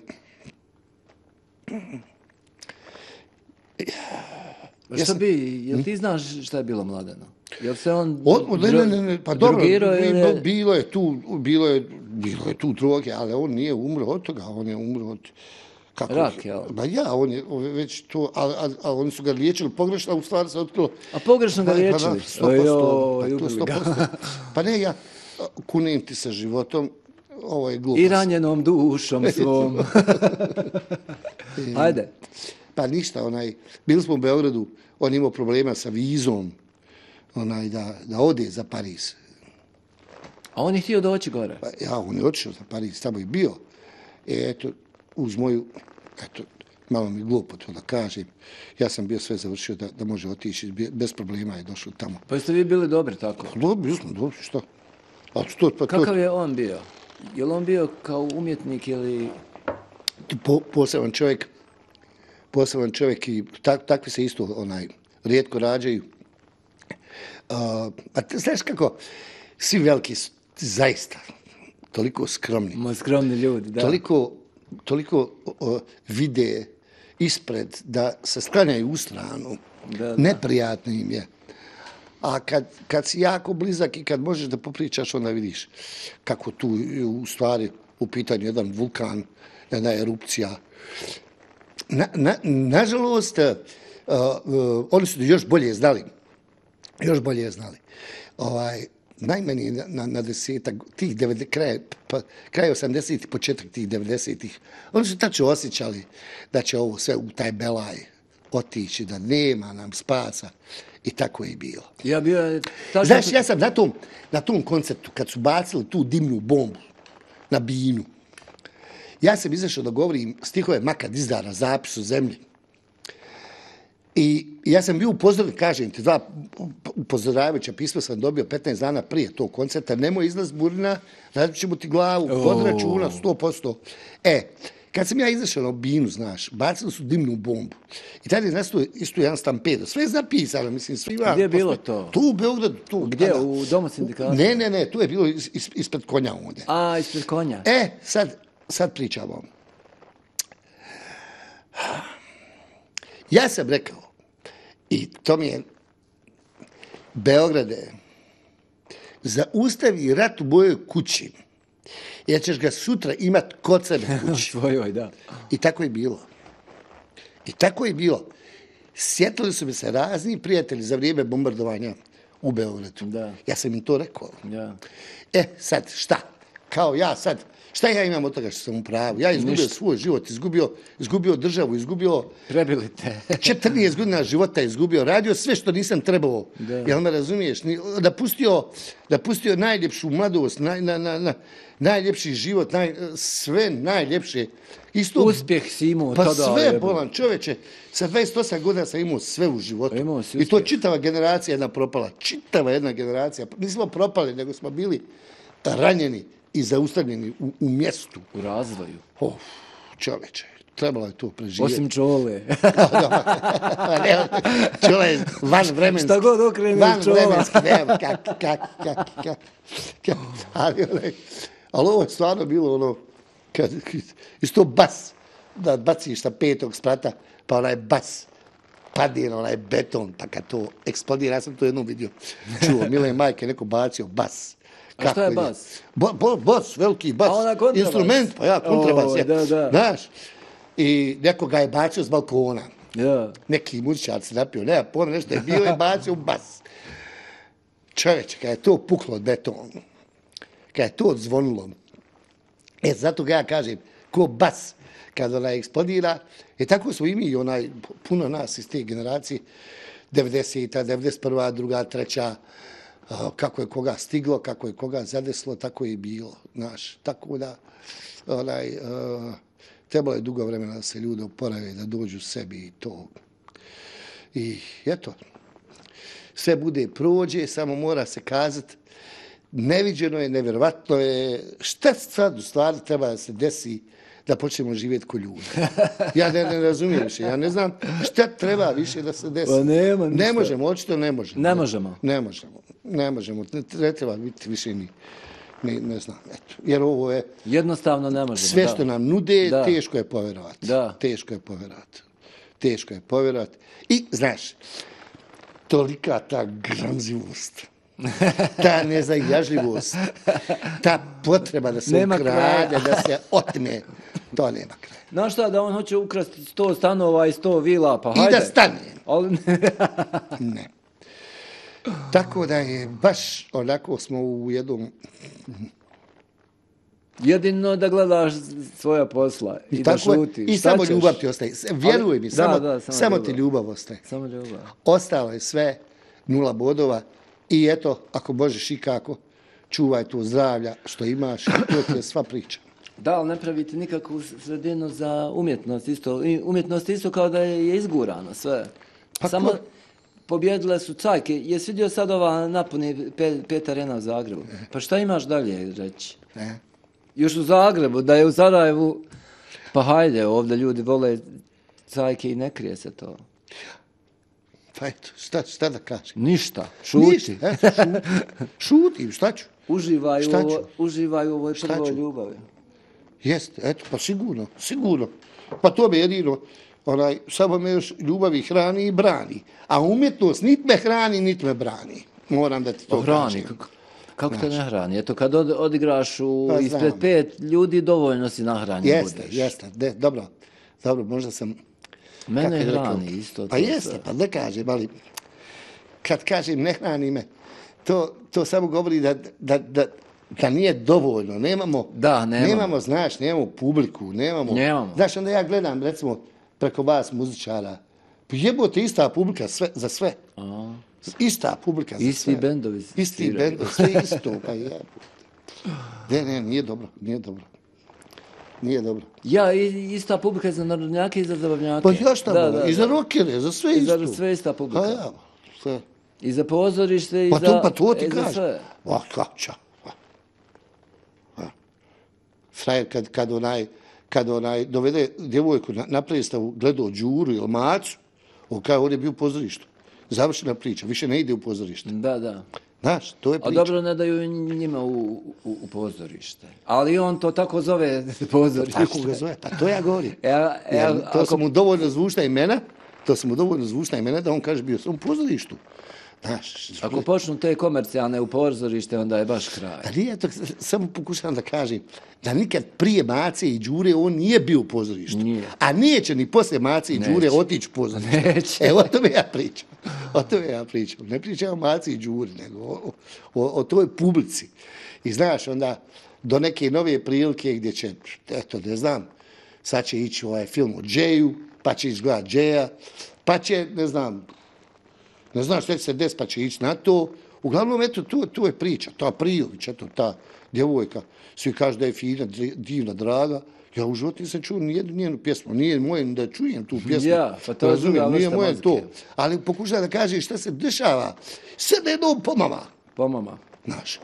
Ja šta bi, jel ti znaš šta je bilo Mladeno? Jel se on Od, ne, ne, ne, ne, pa dobro, drogirao ili je- bilo je tu, bilo je, bilo je tu droge, ali on nije umro od toga, on je umro od... Kako? Rak, jel? Ba ja, on je on je već to, ali al, al, oni su ga liječili pogrešno, a u stvari se otkrilo... A pogrešno ga Pa, pa da, liječili? sto posto, Ojoj, pa to ubili sto ga. posto. Pa ne, ja kunem ti sa životom, ovo je glupost. I ranjenom dušom svom. Ajde. Pa ništa, onaj, bili smo u Beogradu, on imao problema sa vizom, onaj, da, da ode za Pariz. A on je htio doći gore. Pa ja, on je otišao za Pariz, tamo je bio. E, eto, uz moju, eto, malo mi glupo to da kažem, ja sam bio sve završio da, da može otići, bez problema je došao tamo. Pa jeste vi bili dobri tako? Dobro, smo, dobro, šta? A to, pa to, Kakav je on bio? Je li on bio kao umjetnik ili... po, poseban čovjek, poseban čovjek i tak, takvi se isto onaj rijetko rađaju. Uh, a te, znaš kako, svi veliki su zaista toliko skromni. Mo skromni ljudi, da. Toliko, toliko uh, vide ispred da se sklanjaju u stranu. Da, da. Neprijatno im je. A kad, kad si jako blizak i kad možeš da popričaš, onda vidiš kako tu u stvari u pitanju jedan vulkan, jedna erupcija. Na, na, nažalost, uh, uh, oni su još bolje znali. Još bolje znali. Ovaj, najmanje na, na, na desetak, tih devedesetih, kraj, pa, kraj osamdesetih, početak tih devedesetih, oni su tačno osjećali da će ovo sve u taj belaj otići, da nema nam spasa. I tako je i bilo. Ja bio... Tačno... Znaš, ja sam na tom, na tom konceptu, kad su bacili tu dimnu bombu na Binu, ja sam izašao da govorim stihove Maka Dizdara, Zapis u zemlji. I ja sam bio upozoren, kažem ti, dva upozoravajuća pisma sam dobio petnaest dana prije tog koncerta, nemoj izlaz Burina, radit ćemo ti glavu, pod računa, sto posto. E, kad sam ja izašao na Binu, znaš, bacili su dimnu bombu. I tada je nastao isto jedan stampedo. Sve je zapisano, mislim, svi vam... Gdje je bilo to? Tu u Beogradu. Tu, Gdje? tada. U Domu sindikata? Ne, ne, ne, tu je bilo is, is, ispred konja ovdje. A, ispred konja. E, sad, sad pričamo. Ja sam rekao, i to mi je, Beograde, zaustavi rat u mojoj kući, jer ćeš ga sutra imat kod sebe kući. Svojoj, da. I tako je bilo. I tako je bilo. Sjetili su mi se razni prijatelji za vrijeme bombardovanja u Beogradu. Da. Ja sam im to rekao. Ja. E, sad, šta? Kao ja sad, šta ja imam od toga što sam u pravu? Ja izgubio Ništa. svoj život, izgubio, izgubio državu, izgubio Prebili te. četrnaest godina života izgubio, radio sve što nisam trebao. Da. Jel me razumiješ? Ni- Da pustio, da pustio najljepšu mladost, naj, na, na, na, najljepši život, naj, sve najljepše. Isto, Uspjeh si imao pa tada, sve, jebote. bolan čoveče, sa dvadeset osam godina sam imao sve u životu. Imao si I to uspjeh. čitava generacija jedna propala. Čitava jedna generacija. Nismo propali, nego smo bili ranjeni i zaustavljeni u, u mjestu. U razvoju. Oh, čoveče, trebalo je to preživjeti. Osim čole. Čola je van vremenski. Šta god okrene van čola. vremenski, nema, kak, kak, kak, kak, kak. Ali, onaj, ali ovo je stvarno bilo ono, kad, isto bas, da baciš sa petog sprata, pa onaj bas, padne na onaj beton, pa kad to eksplodira, ja sam to jednom vidio, čuo, Mile Majke, neko bacio bas. A šta je Kako bas? Bo, bo, bas, veliki bas. A ona kontrabas? Instrument, pa ja, kontrabas. O, je. da, da. Znaš, i neko ga je bacio s balkona. Ja. Neki muzičar se napio, nema pojma, nešto je bilo i bacio u bas. Čovječe, kad je to puklo od beton, kad je to zvonilo, e, zato ga ja kažem, ko bas, kad ona eksplodira, e tako smo i mi, onaj, puno nas iz te generacije, devedeseta, devedeset prva, druga, treća, a, kako je koga stiglo, kako je koga zadeslo, tako je i bilo, znaš, tako da, onaj, a, trebalo je dugo vremena da se ljude oporave, da dođu sebi i to. I eto, sve bude prođe, samo mora se kazati, neviđeno je, nevjerovatno je, šta sad u stvari treba da se desi da počnemo živjeti ko ljudi. Ja ne, ne razumijem više, ja ne znam šta treba više da se desi. Pa nema ništa. Ne možemo, očito ne možemo. Ne možemo. Ne možemo, ne možemo, ne, ne treba biti više ni, ne, ne znam, eto. Jer ovo je, Jednostavno ne možemo. sve da. što nam nude, Da. teško je povjerovati. Da. Teško je povjerovati. Teško je povjerovati. I, znaš, tolika ta gramzivost, ta nezajažljivost, ta potreba da se Nema ukrade, kraja. da se otme, to nema kraja. Znaš šta, da on hoće ukrasti sto stanova i sto vila, pa I hajde. da stane. Ali Ne. Tako da je baš onako smo u jednom... jedino da gledaš svoja posla i, I, da tako je, šutiš. i Šta samo ćeš? ljubav ti ostaje. Vjeruj mi, da, samo, da, samo samo ljubav. ti ljubav ostaje. Samo ljubav. Ostalo je sve nula bodova i eto, ako možeš i kako, čuvaj to zdravlja što imaš, to ti je sva priča. Da, ali ne pravite nikakvu sredinu za umjetnost. Isto. I umjetnost isto kao da je izgurano sve. Pa Samo ko- pobjedile su cajke. Jesi vidio sad ova napuni pe, pet arena u Zagrebu? Pa šta imaš dalje reći? Ne? Još u Zagrebu, da je u Sarajevu, pa hajde, ovdje ljudi vole cajke i ne krije se to. Pa eto, šta, šta da kažem? Ništa, šuti. Ništa, eto, šutim. Šutim, šta ću? Uživaj, Šta u, ću? ovo, uživaj u ovoj Šta prvoj ću? ljubavi. Jeste, eto, pa sigurno, sigurno. Pa to me jedino, onaj, samo me još ljubavi hrani i brani. A umjetnost nit me hrani, nit me brani. Moram da ti to Hrani, kažem. kako, kako te ne hrani? Eto, kad od, odigraš u, Pa ispred znam. pet ljudi, dovoljno si nahranjen Jeste, budeš. jeste, de, dobro, dobro, možda sam... Mene kako bi rekao, hrani isto to. Pa jeste, sve. pa ne kažem, ali kad kažem ne hrani me, to, to samo govori da, da, da, da nije dovoljno, nemamo, Da, nemamo. nemamo, znaš, nemamo publiku, nemamo, Nemamo. znaš, onda ja gledam, recimo, preko vas muzičara, pa jebote ista publika sve, za sve, A, ista publika za Isti sve. bendovi Isti sviraju. bendovi, sve isto, pa jebote. Ne, ne, nije dobro, nije dobro. Nije dobro. ja, i- ista publika i za narodnjake i za zabavnjake. Pa ja šta da, da, da, i za da. rokere, za sve I isto. za sve ista publika. Pa ja, sve. I za pozorište i Pa za... to, pa to ti i za kažem. sve. Pa kača. Frajer kad, kad onaj, kad onaj dovede djevojku na, na predstavu, gledao Đuru ili Macu, on kao on je bio u pozorištu. Završena priča, više ne ide u pozorište. Da, da. Znaš, to je A priča. dobro, ne daju njima u, u, u pozorište. Ali on to tako zove pozorište. Tako ga zove, pa to ja govorim. E, a- e, Jer a- to ako- su mu dovoljno zvučna imena, to su mu dovoljno zvučna imena da on kaže bio sam u pozorištu. Znaš, Ako počnu te komercijalne u pozorište, onda je baš kraj. a nije to, samo pokušavam da kažem, da nikad prije Mace i Đure on nije bio u pozorištu. Nije. A neće ni poslije Mace i Đure Neće. otići u pozorište. Neće. E, o tome ja pričam. O tome ja pričam. Ne pričam o Maci i Đuri, nego o, o, o toj publici. I znaš, onda do neke nove prilike gdje će, eto, ne znam, sad će ići ovaj film o Džeju, pa će izgledat Džeja, pa će, ne znam, ne znam šta će se des, pa će ići na to. Uglavnom, eto, tu, tu je priča. Ta Prijović, eto, ta djevojka, svi kažu da je fina, divna, draga. Ja u životu nisam čuo nijednu njenu pjesmu. Nije moje da čujem tu pjesmu. Ja, pa to je Razumijem, druga nije vrsta moje muzike. to. Ali pokušaj da kaže šta se dešava. Sve na jednom pomama. Pomama. Znaš,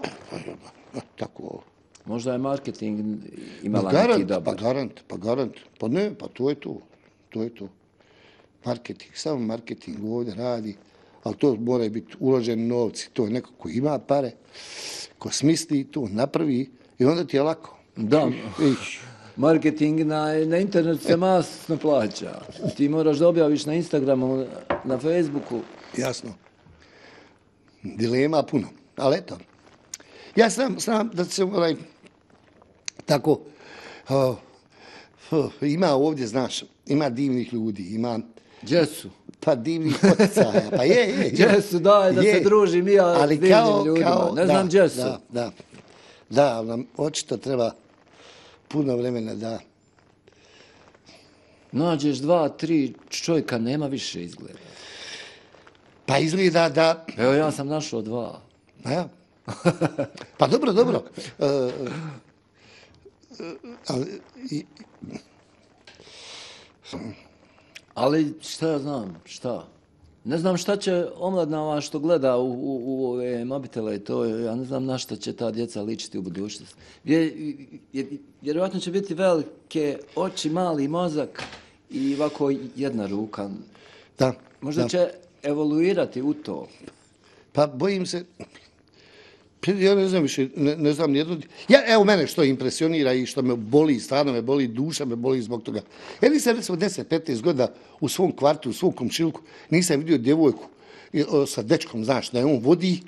e, tako. Možda je marketing Pa imala neki garant, pa dobar. garant, pa garant. Pa ne, pa to je to. To je to. Marketing, samo marketing ovdje radi, ali to mora biti uloženi novci. To je neko ko ima pare, ko smisli to, napravi i onda ti je lako. Da. Ih, Marketing na, na internetu se masno plaća. Ti moraš da objaviš na Instagramu, na Facebooku. jasno. Dilema puno, ali eto. Ja znam, znam da se onaj, tako, uh, uh, ima ovdje, znaš, ima divnih ljudi, ima Gdje su? pa divnih poticaja, pa je, je, je. Gdje su, daj da se družim i ja s Ali divnim kao, ljudima. kao, Ne znam da, gdje su. Da, da, da, ali nam očito treba puno vremena da, Nađeš dva, tri čovjeka, nema više izgleda. pa izgleda da, Evo ja sam našao dva. pa ja, pa dobro, dobro, e, e, ali, i, Ali šta ja znam, šta? Ne znam šta će omladna ova što gleda u, u, u ove mobitele i to, ja ne znam na šta će ta djeca ličiti u budućnosti. Vje, vje, vjerojatno će biti velike oči, mali mozak i ovako jedna ruka. da, Možda da. će evoluirati u to. Pa bojim se, ja ne znam više, ne, ne znam nijedno. Ja, evo mene što impresionira i što me boli, stvarno me boli, duša me boli zbog toga. Ja nisam recimo deset petnaest godina u svom kvartu, u svom komšilku, nisam vidio djevojku i, o, sa dečkom, znaš, da je on vodi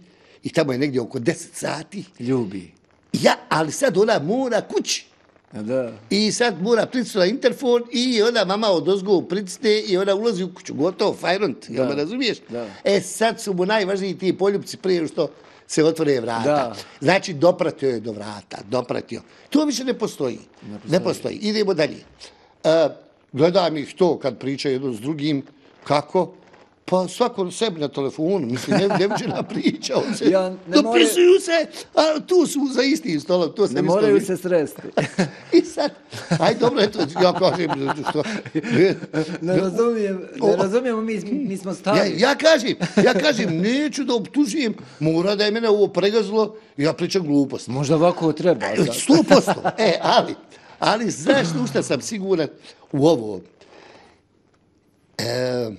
i tamo je negdje oko deset sati. Ljubi. Ja, ali sad ona mora kući. A da. I sad mora pritisnuti na interfon i ona mama odozgo pritisne i ona ulazi u kuću. Gotovo, fajront, jel Da, me razumiješ? da. E sad su mu najvažniji ti poljupci prije nego što se otvore vrata. Da. Znači, dopratio je do vrata, dopratio. To više ne postoji. Ne postoji. Ne postoji. Idemo dalje. E, gledam ih to kad pričaju jedno s drugim. Kako? Pa svako sebi na telefonu, mislim, ne, ne viđena priča, on se, Ja, ne dopisuju se, a tu su za istim stolom, to sam Ne isto moraju vidio. se sresti. I sad, aj dobro, eto, ja kažem, što, Ne razumijem, ne razumijemo, mi, mi smo ja, stari. ja kažem, ja kažem, neću da optužujem, mora da je mene ovo pregazilo, ja pričam glupost. Možda ovako treba. sad. Sto posto, e, ali, ali znaš u šta sam siguran u ovo? E,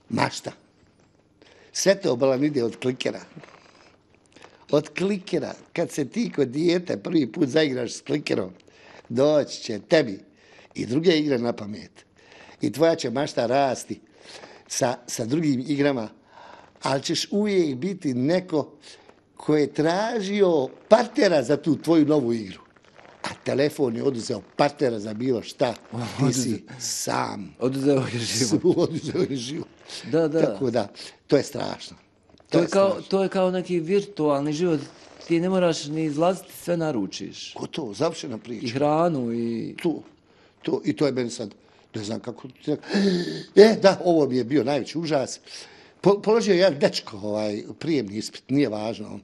mašta. Sve to bolan ide od klikera. Od klikera. Kad se ti kod dijete prvi put zaigraš s klikerom, doći će tebi i druge igre na pamet. I tvoja će mašta rasti sa, sa drugim igrama, ali ćeš uvijek biti neko ko je tražio partnera za tu tvoju novu igru. A telefon je oduzeo partnera za bilo šta. Ti si sam. Oduzeo je život. Oduzeo je život. Da, da. Tako da, to je strašno. To je, kao, to je kao neki virtualni život. Ti ne moraš ni izlaziti, sve naručiš. Gotovo, završena priča. I hranu i... To, to, i to je meni sad, ne znam kako... E, da, ovo mi je bio najveći užas. Po, položio jedan dečko, ovaj, prijemni ispit, nije važno.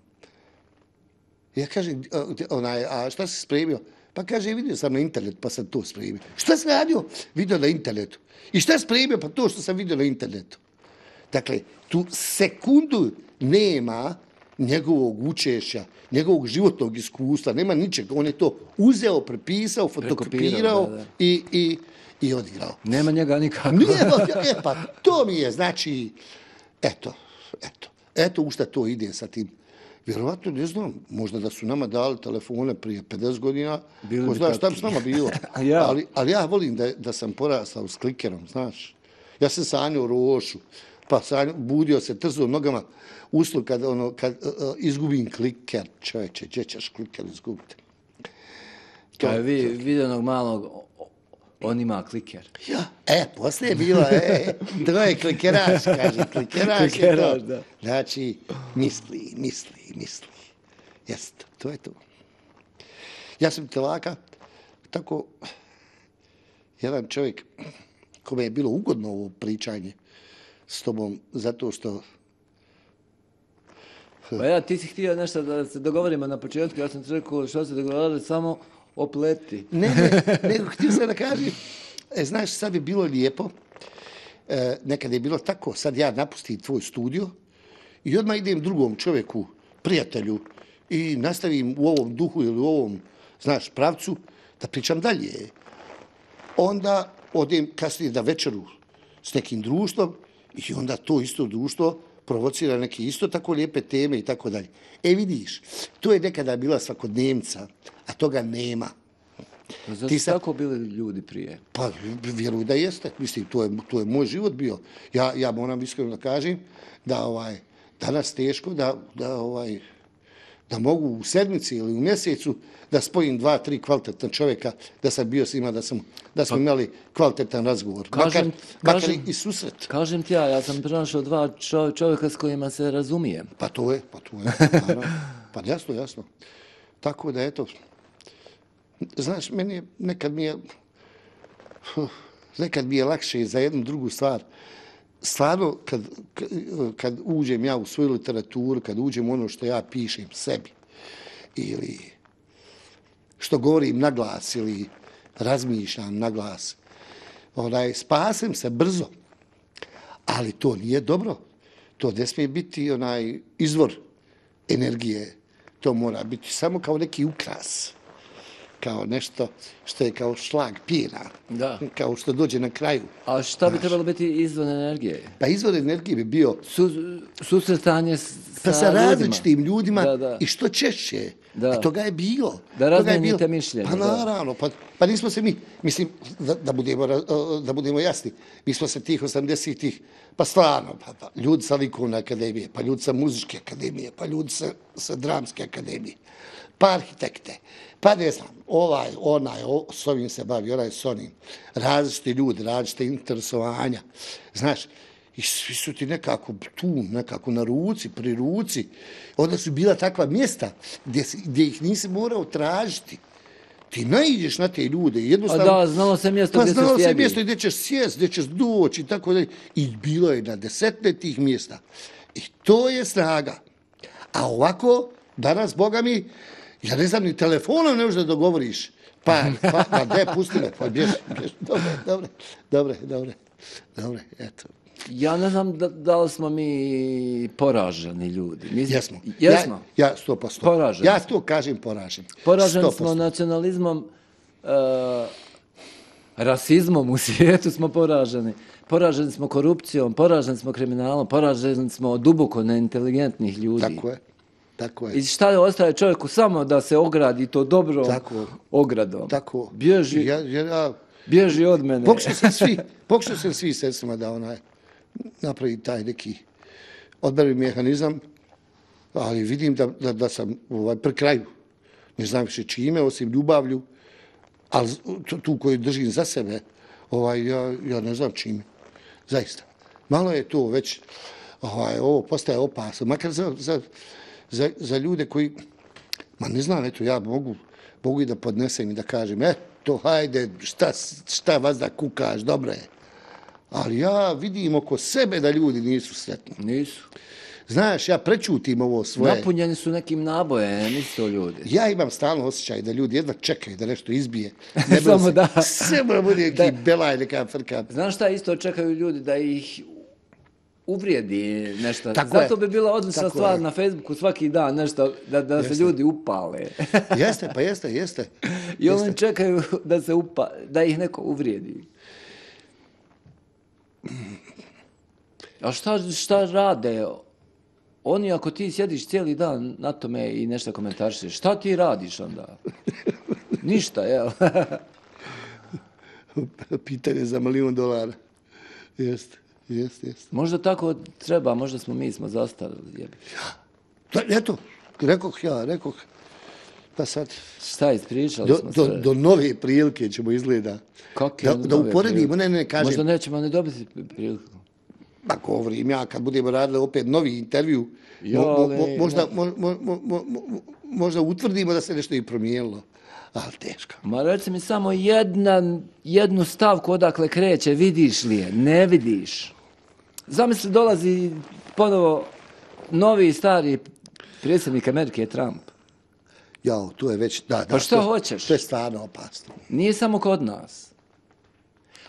Ja kažem, onaj, a šta si spremio? Pa kaže, vidio sam na internetu, pa sam to spremio. Šta sam radio? Vidio na internetu. I šta spremio? Pa to što sam vidio na internetu. Dakle, tu sekundu nema njegovog učešća, njegovog životnog iskustva, nema ničega. On je to uzeo, prepisao, fotokopirao da, da. i, i, i odigrao. Nema njega nikako. Nema, e, pa to mi je, znači, eto, eto, eto u šta to ide sa tim. Vjerovatno, ne znam, možda da su nama dali telefone prije pedeset godina, ko zna šta bi s nama bilo. ja. Ali, ali ja volim da, da sam porastao s klikerom, znaš. Ja sam sanjao rošu, pa sanjao, budio se, trzao nogama, uslu kad, ono, kad uh, izgubim kliker, čovječe, gdje ćeš kliker izgubiti? Kao je vi, videnog malog, on ima kliker. Ja, e, poslije je bilo, e, to je klikeraš, kaže, klikeraš, klikeraš je to. Da. Znači, misli, misli, misli. Jeste, to je to. Ja sam telaka, tako, jedan čovjek, kome je bilo ugodno ovo pričanje s tobom, zato što... Pa ja, ti si htio nešto da se dogovorimo na početku, ja sam ti rekao što se dogovorili, samo opleti. Ne, ne, nego htio sam da kažem, e, znaš, sad bi bilo lijepo, e, nekada je bilo tako, sad ja napustim tvoj studio i odmah idem drugom čovjeku, prijatelju, i nastavim u ovom duhu ili u ovom, znaš, pravcu, da pričam dalje. Onda odem kasnije da večeru s nekim društvom i onda to isto društvo provocira neke isto tako lijepe teme i tako dalje. E vidiš, to je nekada bila svakodnevnica, a toga nema. Zašto ti sad... tako bili ljudi prije? Pa vjeruj da jeste. Mislim, to je, to je moj život bio. Ja, ja moram iskreno da kažem da ovaj, danas teško da, da, ovaj, da mogu u sedmici ili u mjesecu da spojim dva, tri kvalitetna čovjeka, da sam bio s njima, da, sam, da smo pa, imali kvalitetan razgovor. Kažem, makar, makar kažem, i susret. Kažem ti ja, ja sam pronašao dva čovjeka s kojima se razumijem. Pa to je, pa to je. Pa jasno, jasno. Tako da, eto, znaš, meni je, nekad mi je, nekad mi je lakše za jednu drugu stvar. Stvarno, kad, kad uđem ja u svoju literaturu, kad uđem u ono što ja pišem sebi, ili što govorim na glas, ili razmišljam na glas, onaj, spasem se brzo, ali to nije dobro. To ne smije biti onaj izvor energije. To mora biti samo kao neki ukras, kao nešto što je kao šlag pjena, da. Kao što dođe na kraju. A šta bi znaš, trebalo biti izvor energije? Pa izvor energije bi bio Su, susretanje s, pa sa ljudima. različitim ljudima da, da. i što češće. Da. A toga je bilo. Da razmenite mišljenje. Pa naravno, pa, pa nismo se mi, mislim, da, da, budemo, da budemo jasni, mi smo se tih osamdesetih, pa stvarno, pa, pa, ljudi sa likovne akademije, pa ljudi sa muzičke akademije, pa ljudi sa, sa dramske akademije, pa arhitekte, pa ne znam, ovaj, onaj, o, s ovim se bavi, onaj s onim, različiti ljudi, različite interesovanja, znaš, i svi su ti nekako tu, nekako na ruci, pri ruci. Onda su bila takva mjesta gdje, gdje ih nisi morao tražiti. Ti naiđeš na te ljude. Jednostavno, a da, znalo se mjesto pa gdje znalo se se mjesto gdje ćeš sjest, gdje ćeš doći i tako dalje. I bilo je na desetne tih mjesta. I to je snaga. A ovako, danas, Boga mi, ja ne znam, ni telefonom ne možeš da dogovoriš. Pa, pa, pa, de, pusti me, pa, bježi, bježi. Dobre, dobre, dobre, dobre, dobre, eto. Ja ne znam da, da li smo mi poraženi ljudi. Mislim, jesmo. Jesmo? Ja, ja sto posto. Poraženi. Ja to kažem poražen. Poraženi smo nacionalizmom. Uh, rasizmom u svijetu smo poraženi. Poraženi smo korupcijom, poraženi smo kriminalom, poraženi smo od duboko neinteligentnih ljudi. Tako je. Tako je. I šta ostaje čovjeku samo da se ogradi to dobrom Tako. ogradom. Tako. Bježi, Ja, ja, bježi od mene. Pokušao sam svi, pokušao sam svi sredstvima da onaj napravi taj neki odbrani mehanizam, ali vidim da, da, da sam ovaj, pri kraju. Ne znam više čime, osim ljubavlju, ali tu, tu koju držim za sebe, ovaj, ja, ja ne znam čime. Zaista. Malo je to već, ovaj, ovo postaje opasno. Makar za, za, za, za ljude koji, ma ne znam, eto, ja mogu, mogu i da podnesem i da kažem, eto, hajde, šta, šta vas da kukaš, dobro je. Ali ja vidim oko sebe da ljudi nisu sretni. Nisu. Znaš, ja prečutim ovo svoje. Napunjeni su nekim nabojem, nisu to ljudi. Ja imam stalno osjećaj da ljudi jedva čekaju da nešto izbije. Ne Samo se, da. Sve mora bude neki belaj, neka frka. Znaš šta isto čekaju ljudi da ih uvrijedi nešto. Tako Zato je. bi bila odlična Tako stvar je. na Facebooku svaki dan nešto da, da se Jeste. ljudi upale. Jeste, pa jeste, jeste. I oni čekaju da se upa, da ih neko uvrijedi. A šta, šta rade? Oni ako ti sjediš cijeli dan na tome i nešto komentarišeš, šta ti radiš onda? Ništa, jel? Pitanje za milion dolara. Jeste, jeste, jeste. Možda tako treba, možda smo mi smo zastarili. Jebi. Da, eto, rekoh ja, rekoh. Pa sad, Šta ispričali do, smo do, sve. do nove prilike ćemo izgleda. Kakve Da, da nove uporedimo, prilike? ne, ne, kažem. Možda nećemo ne dobiti priliku. Pa govorim ja, kad budemo radili opet novi intervju, Ja, mo, mo, mo, ali- možda, mo, mo, mo, mo, mo, možda utvrdimo da se nešto i promijenilo. Ali teško. Ma reci mi samo jedna, jednu stavku odakle kreće, vidiš li je? Ne vidiš. Zamisli, dolazi ponovo novi i stari predsjednik Amerike, Trump. Jao, tu je već, da, da. Pa šta to- hoćeš? To je stvarno opasno. Nije samo kod nas.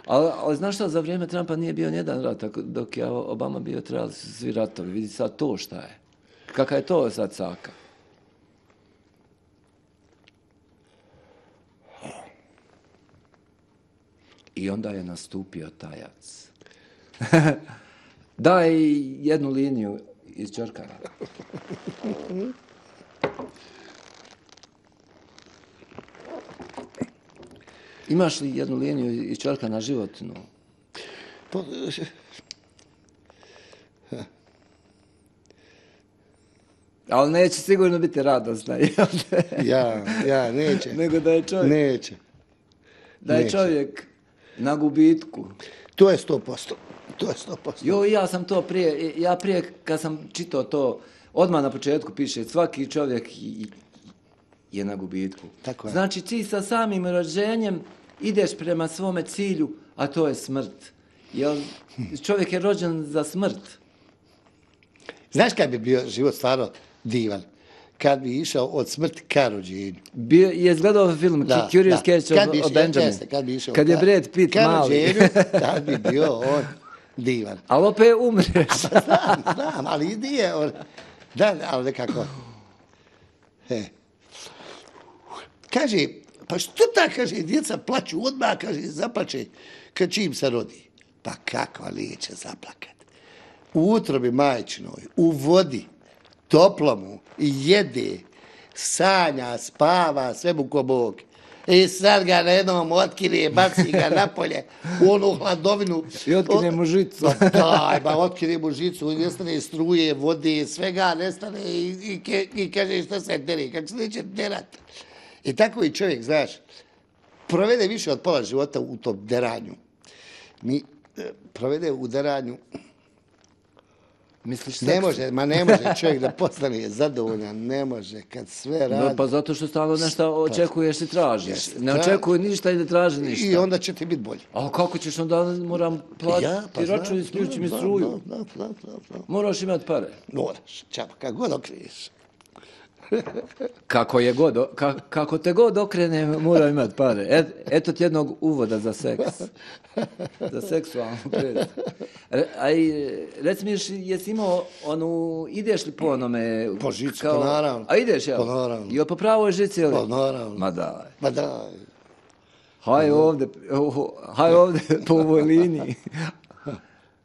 Ali, ali znaš šta, za vrijeme Trumpa nije bio nijedan rat, tako dok je Obama bio, trebali su svi ratovi. Vidi sad to šta je. Kaka je to sad caka? I onda je nastupio tajac. Daj jednu liniju iz Čorkana. Imaš li jednu liniju iz Čorkana životnu? Po, Ali neće sigurno biti radosna, jel te? ja, ja, neće. Nego da je čovjek, Neće. da je neće. čovjek na gubitku. To je sto posto. To je sto posto. Jo, ja sam to prije, ja prije kad sam čitao to, odmah na početku piše, svaki čovjek i- je na gubitku. Tako je. Znači ti sa samim rođenjem ideš prema svome cilju, a to je smrt. Jel, čovjek je rođen za smrt. Znaš kad bi bio život stvarno divan? Kad bi išao od smrti ka rođenju. Bio, je zgledao film Da, Curious da. Case Kad of, bi of išao- Benjamin. jeste, kad bi išao Kad je ka- Brad Pitt ka mali. rođenju, tad bi bio on divan. Ali opet umreš. Znam, znam, ali nije on. Da, ali nekako. He. Kaže, pa što ta, kaže, djeca plaću odmah, kaže, zaplače kad čim se rodi. Pa kako neće zaplakat? U utrobi majčinoj, u vodi, toplomu, jede, sanja, spava, sve mu ko Bog. I sad ga na jednom otkine, baci ga napolje, u onu hladovinu. I otkine mu žicu. Pa daj, ba otkine mu žicu, nestane struje, vode, svega nestane i, i, ke, i kaže šta se dere, kako se neće derat. I tako i čovjek, znaš, provede više od pola života u tom deranju. Mi e, provede u deranju, Misliš ne seks? može, ma ne može čovjek da postane zadovoljan, ne može, kad sve radi. No, pa zato što stalno nešto očekuješ i tražiš. Jeste, Ne tra- očekuj ništa i ne traži ništa. I onda će ti biti bolje. A kako ćeš onda, moram platiti Ja, pa račun, znam, isključi mi znam, struju. znam, znam, znam, znam, znam. Moraš imati pare. Moraš, čapa, kako god okriješ. Kako je god, ka, kako te god okrene, mora imati pare. Et, eto ti jednog uvoda za seks. Za seksualnu predstavu. Re, a i, reci mi, jesi- jesi imao onu, ideš li po onome? Po žici, pa naravno. A ideš, ja? Pa naravno. I po pravoj žici, ili? Pa naravno. Ma daj. Ma daj. Haj ovdje, haj ovdje po ovoj liniji.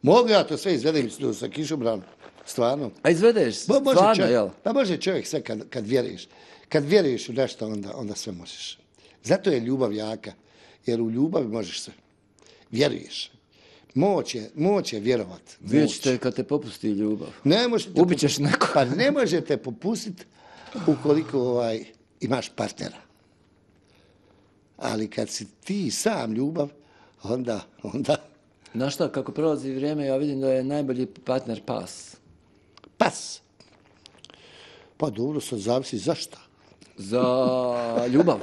Mogu ja to sve izvedem sa kišobranom, stvarno. A izvedeš, Bo, može stvarno, čovjek, jel? Pa može čovjek sve kad, kad vjeruješ. Kad vjeruješ u nešto, onda, onda sve možeš. Zato je ljubav jaka, jer u ljubavi možeš sve. Vjeruješ. Moć je, moć je vjerovat. Vidjet ćete kad te popusti ljubav. Ne možete Ubićeš neko. Pa ne možete popustiti ukoliko ovaj, imaš partnera. Ali kad si ti sam ljubav, onda, onda... Znaš šta, kako prolazi vrijeme, ja vidim da je najbolji partner pas. Pas. Pa dobro, sad zavisi zašta. Za ljubav.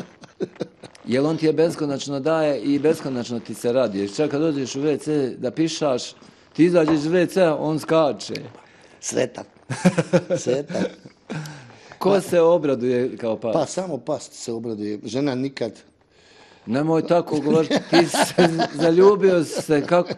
Jer on ti je beskonačno daje i beskonačno ti se radi. Jer čak kad dođeš u ve ce da pišaš, ti izađeš iz ve cea, on skače. Sretan. Sretan. Ko se obraduje kao pas? Pa samo pas se obraduje. Žena nikad. Nemoj tako govoriti, ti se zaljubio se, kako,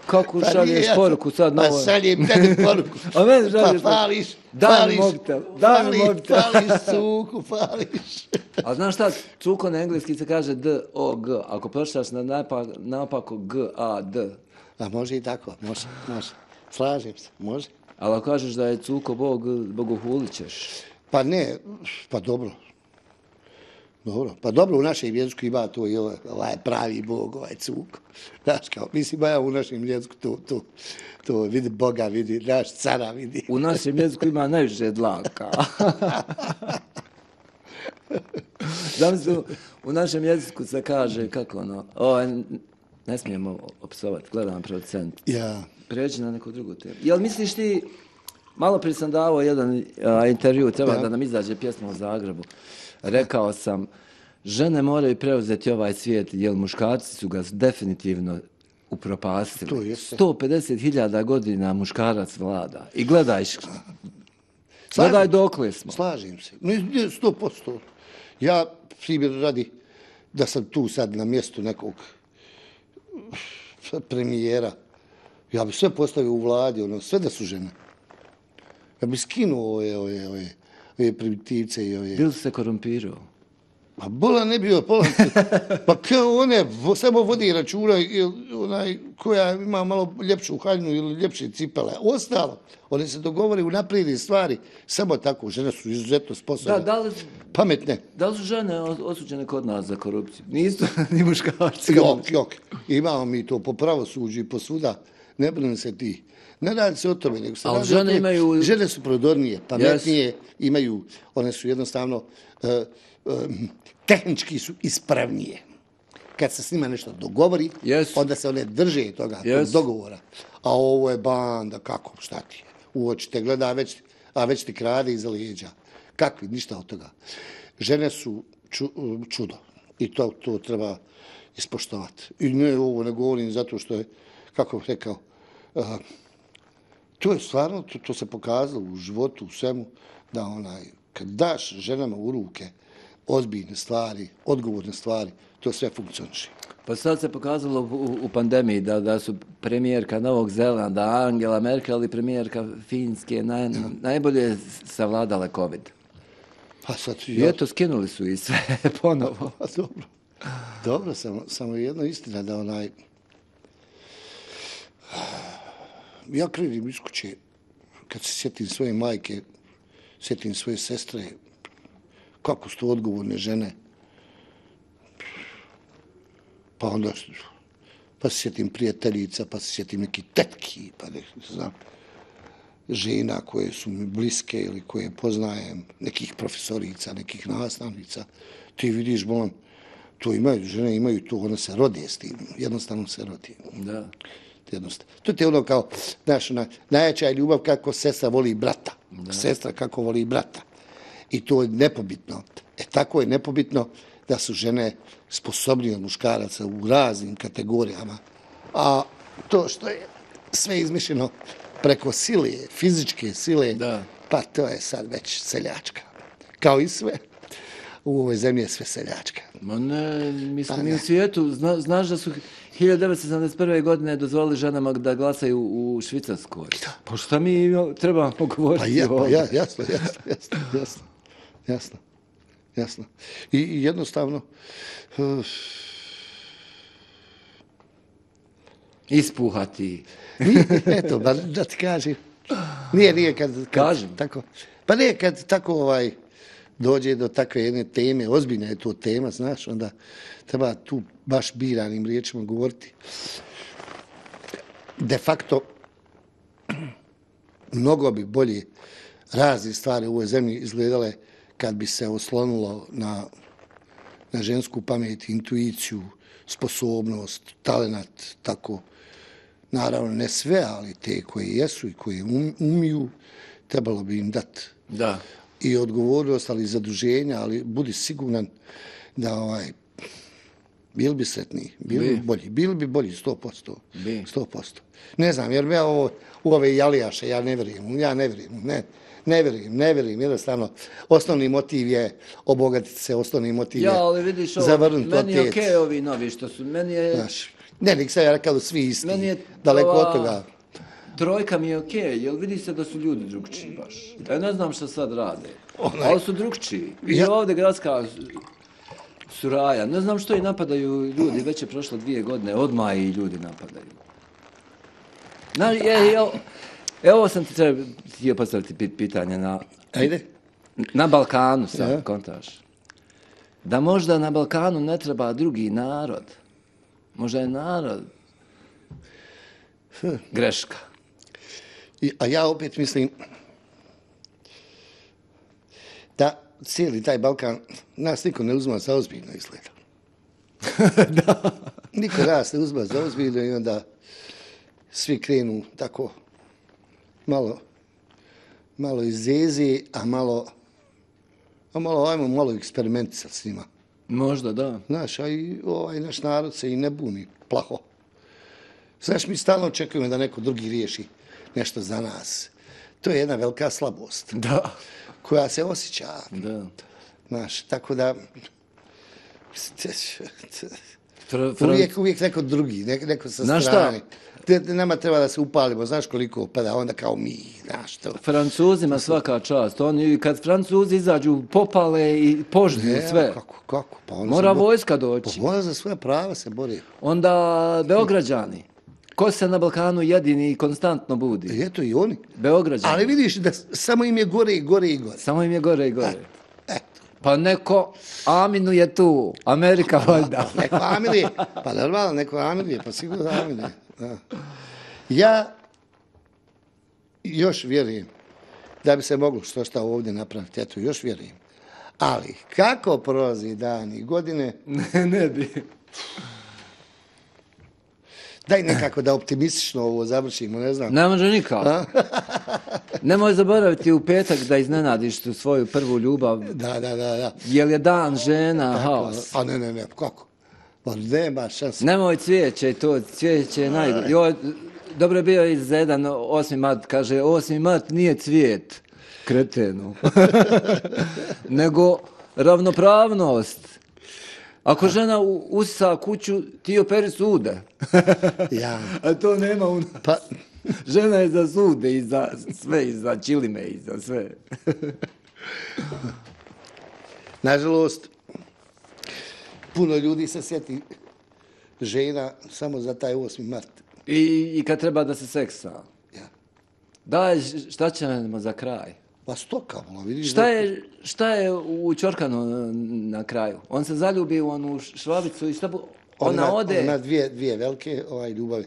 kako Pa šalješ nije, poruku sad na Pa ovo? šaljem tebi poruku. A meni šalješ Pa fališ, Daj mi fališ, mobitel, daj mi fališ, mobitel. fališ, cuku, fališ. A znaš šta, cuko na engleski se kaže D O G, ako pročitaš na napak, napako G A D. A može i tako, može, može. Slažem se, može. Ali ako kažeš da je cuko Bog, bogohulit ćeš. Pa ne, pa dobro. Dobro, pa dobro u našem jeziku ima to i ovaj, ovaj pravi Bog, ovaj cuko. Znaš kao, mislim, ja u našem jeziku to, to, to vidi Boga, vidi, naš cara vidi. U našem jeziku ima najviše dlaka. Zamisli, u našem jeziku se kaže, kako ono, o, ne smijemo opsovati, gledam producent. Ja. Prijeđi na neku drugu temu. Jel misliš ti, malo prije sam davao jedan a, intervju, treba Ja. da nam izađe pjesma u Zagrebu. Rekao sam, žene moraju preuzeti ovaj svijet, jer muškarci su ga definitivno To upropastili. jeste. sto pedeset hiljada godina muškarac vlada. I gledaj, gledaj dokle smo. Slažem se. Ne, ne, sto posto. Ja, primjer radi, da sam tu sad na mjestu nekog premijera, ja bi sve postavio u vladi, ono, sve da su žene. Ja bi skinuo ove, ove, ove, ove primitivce i ove... Bil se korumpirao? Pa bola ne bio, pola, pa kao one vo, samo vodi računa ili onaj koja ima malo ljepšu haljnu ili ljepše cipele. Ostalo, one se dogovore u naprijedi stvari, samo tako, žene su izuzetno sposobne, Da, da li, pametne. da li su žene osuđene kod nas za korupciju? Nisu ni muškarci. Jok, jok, imamo mi to po pravosuđu i po svuda, ne brinem se ti. Ne radi se o tome, nego se Ali radi o žene tome. imaju- Žene su prodornije, pametnije, imaju, one su jednostavno, uh, um, tehnički su ispravnije. Kad se s njima nešto dogovori, Jesu. onda se one drže toga, tog Jesu. dogovora. A ovo je banda, kako, šta ti je? U oči te gleda, a već, a već ti krade iza leđa. Kakvi, ništa od toga. Žene su ču, čudo i to, to treba ispoštovati. I ne ovo ne govorim zato što je, kako bih rekao, uh, to je stvarno, to, to se pokazalo u životu, u svemu, da onaj, kad daš ženama u ruke ozbiljne stvari, odgovorne stvari, to sve funkcioniše. Pa sad se pokazalo u, u pandemiji da, da su premijerka Novog Zelanda, Angela Merkel i premijerka Finske naj, najbolje savladale COVID. Pa sad, I eto, skinuli su i sve ponovo. Pa dobro. Dobro, samo, samo je jedna istina da onaj... Ja krenim iz kuće, kad se sjetim svoje majke, sjetim svoje sestre, kako su to odgovorne žene. Pa onda, pa se sjetim prijateljica, pa se sjetim neki tetki, pa ne znam, žena koje su mi bliske ili koje poznajem, nekih profesorica, nekih nastavnica. Ti vidiš, bolan, to imaju, žene imaju to, one se rode s tim, jednostavno se rodi. Da. Jednostavno. To ti je ono kao, znaš, ona, najjača je ljubav kako sestra voli brata. Da. Sestra kako voli brata. I to je nepobitno. E tako je nepobitno da su žene sposobnije od muškaraca u raznim kategorijama. A to što je sve izmišljeno preko sile, fizičke sile, Da. pa to je sad već seljačka. Kao i sve. U ovoj zemlji je sve seljačka. Ma ne, mi smo Pa mi ne. u svijetu, zna, znaš da su hiljadu devetsto sedamdeset prve. godine dozvolili ženama da glasaju u Švicarskoj. Pa šta mi trebamo govoriti Pa ja, pa ovdje? ja, jasno, jasno, jasno, jasno, jasno, jasno. I, i jednostavno, uh, Ispuhati. Nije, eto, ba, da ti kažem. Nije, nije kad, kad Kažem. tako. Pa nije kad tako ovaj dođe do takve jedne teme, ozbiljna je to tema, znaš, onda treba tu baš biranim riječima govoriti. De facto, mnogo bi bolje razne stvari u ovoj zemlji izgledale kad bi se oslonulo na, na žensku pamet, intuiciju, sposobnost, talenat, tako. Naravno, ne sve, ali te koje jesu i koje um, umiju, trebalo bi im dati Da. i odgovornost, ali i zaduženja, ali budi siguran da ovaj, bili bi sretniji, bili bi, Bi. bolji, bili bi bolji sto posto. Bi. sto posto. Ne znam, jer ja ovo, u ove jalijaše, ja ne vjerujem, ja ne vjerujem, ne, ne vjerujem, ne vjerujem, jednostavno, osnovni motiv je obogatiti se, osnovni motiv je Ja, ali vidiš ovo, zavrnuti meni je otet. okej ovi novi što su, meni je, Znaš, ne, nik sam ja rekao da svi isti, meni je daleko ova od toga. Trojka mi je okej, jer vidi se da su ljudi drugčiji baš. Ja ne znam šta sad rade, Onaj- ali su drugčiji. I Ja- ovdje gradska suraja, ne znam što i napadaju ljudi, već je prošlo dvije godine, odmah i ljudi napadaju. Znaš, je, evo, evo sam ti treba, htio postaviti pit- pitanje na, Ajde. na Balkanu sad, Ja. kontaš. Da možda na Balkanu ne treba drugi narod. Možda je narod greška. I, a ja opet mislim da cijeli taj Balkan nas niko ne uzma za ozbiljno izgleda. Da. Niko nas ne uzma za ozbiljno i onda svi krenu tako malo malo izezi, a malo a malo ajmo malo eksperimentisati s njima. Možda, da. Znaš, a i ovaj naš narod se i ne buni plaho. Znaš, mi stalno očekujemo da neko drugi riješi nešto za nas. To je jedna velika slabost Da. koja se osjeća. Da. Znaš, tako da Fra, fra, uvijek, uvijek neko drugi, neko, neko sa Znaš šta? strane. Te- Nama treba da se upalimo, znaš koliko, pa da onda kao mi, znaš to. Francuzima svaka čast. Oni, kad Francuzi izađu, popale i požnju Ne, sve. Kako, kako? Pa oni Mora se bo- vojska Pa doći. mora za svoja prava se bori. Onda Beograđani. Ko se na Balkanu jedini i konstantno budi? I eto i oni. Beograđani. Ali vidiš da samo im je gore i gore i gore. Samo im je gore i gore. Eto. Pa neko, Aminu je tu, Amerika valjda. Neko Amilije, pa normalno, neko Amilije, pa sigurno Amilije. Da. Ja još vjerujem da bi se moglo što šta ovdje napraviti, eto, još vjerujem. Ali kako prolazi dan i godine, Ne, ne bi. daj nekako da optimistično ovo završimo, ne znam. Ne može nikako. Nemoj zaboraviti u petak da iznenadiš tu svoju prvu ljubav. Da, da, da, da. Jel je dan žena, haos. A ne, ne, ne, kako? Pa nema šanse. Nemoj cvijeće, to cvijeće je najgore. Jo, dobro je bio i za jedan osmi mart, kaže, osmi mart nije cvijet, kretenu. Nego ravnopravnost. Ako žena u- usisa kuću, ti operi sude. Ja. A to nema u... Pa, Žena je za sude i za sve, i za čilime i za sve. nažalost, puno ljudi se sjeti žena samo za taj osmi mart. I, I kad treba da se seksa. Ja. Daj, šta ćemo za kraj? Pa stoka, vola, vidiš. Šta da- je, šta je u Ćorkanu na, na kraju? On se zaljubi u onu švabicu i šta bu... On Ona ima- ode... On ima dvije, dvije velike ovaj, ljubavi.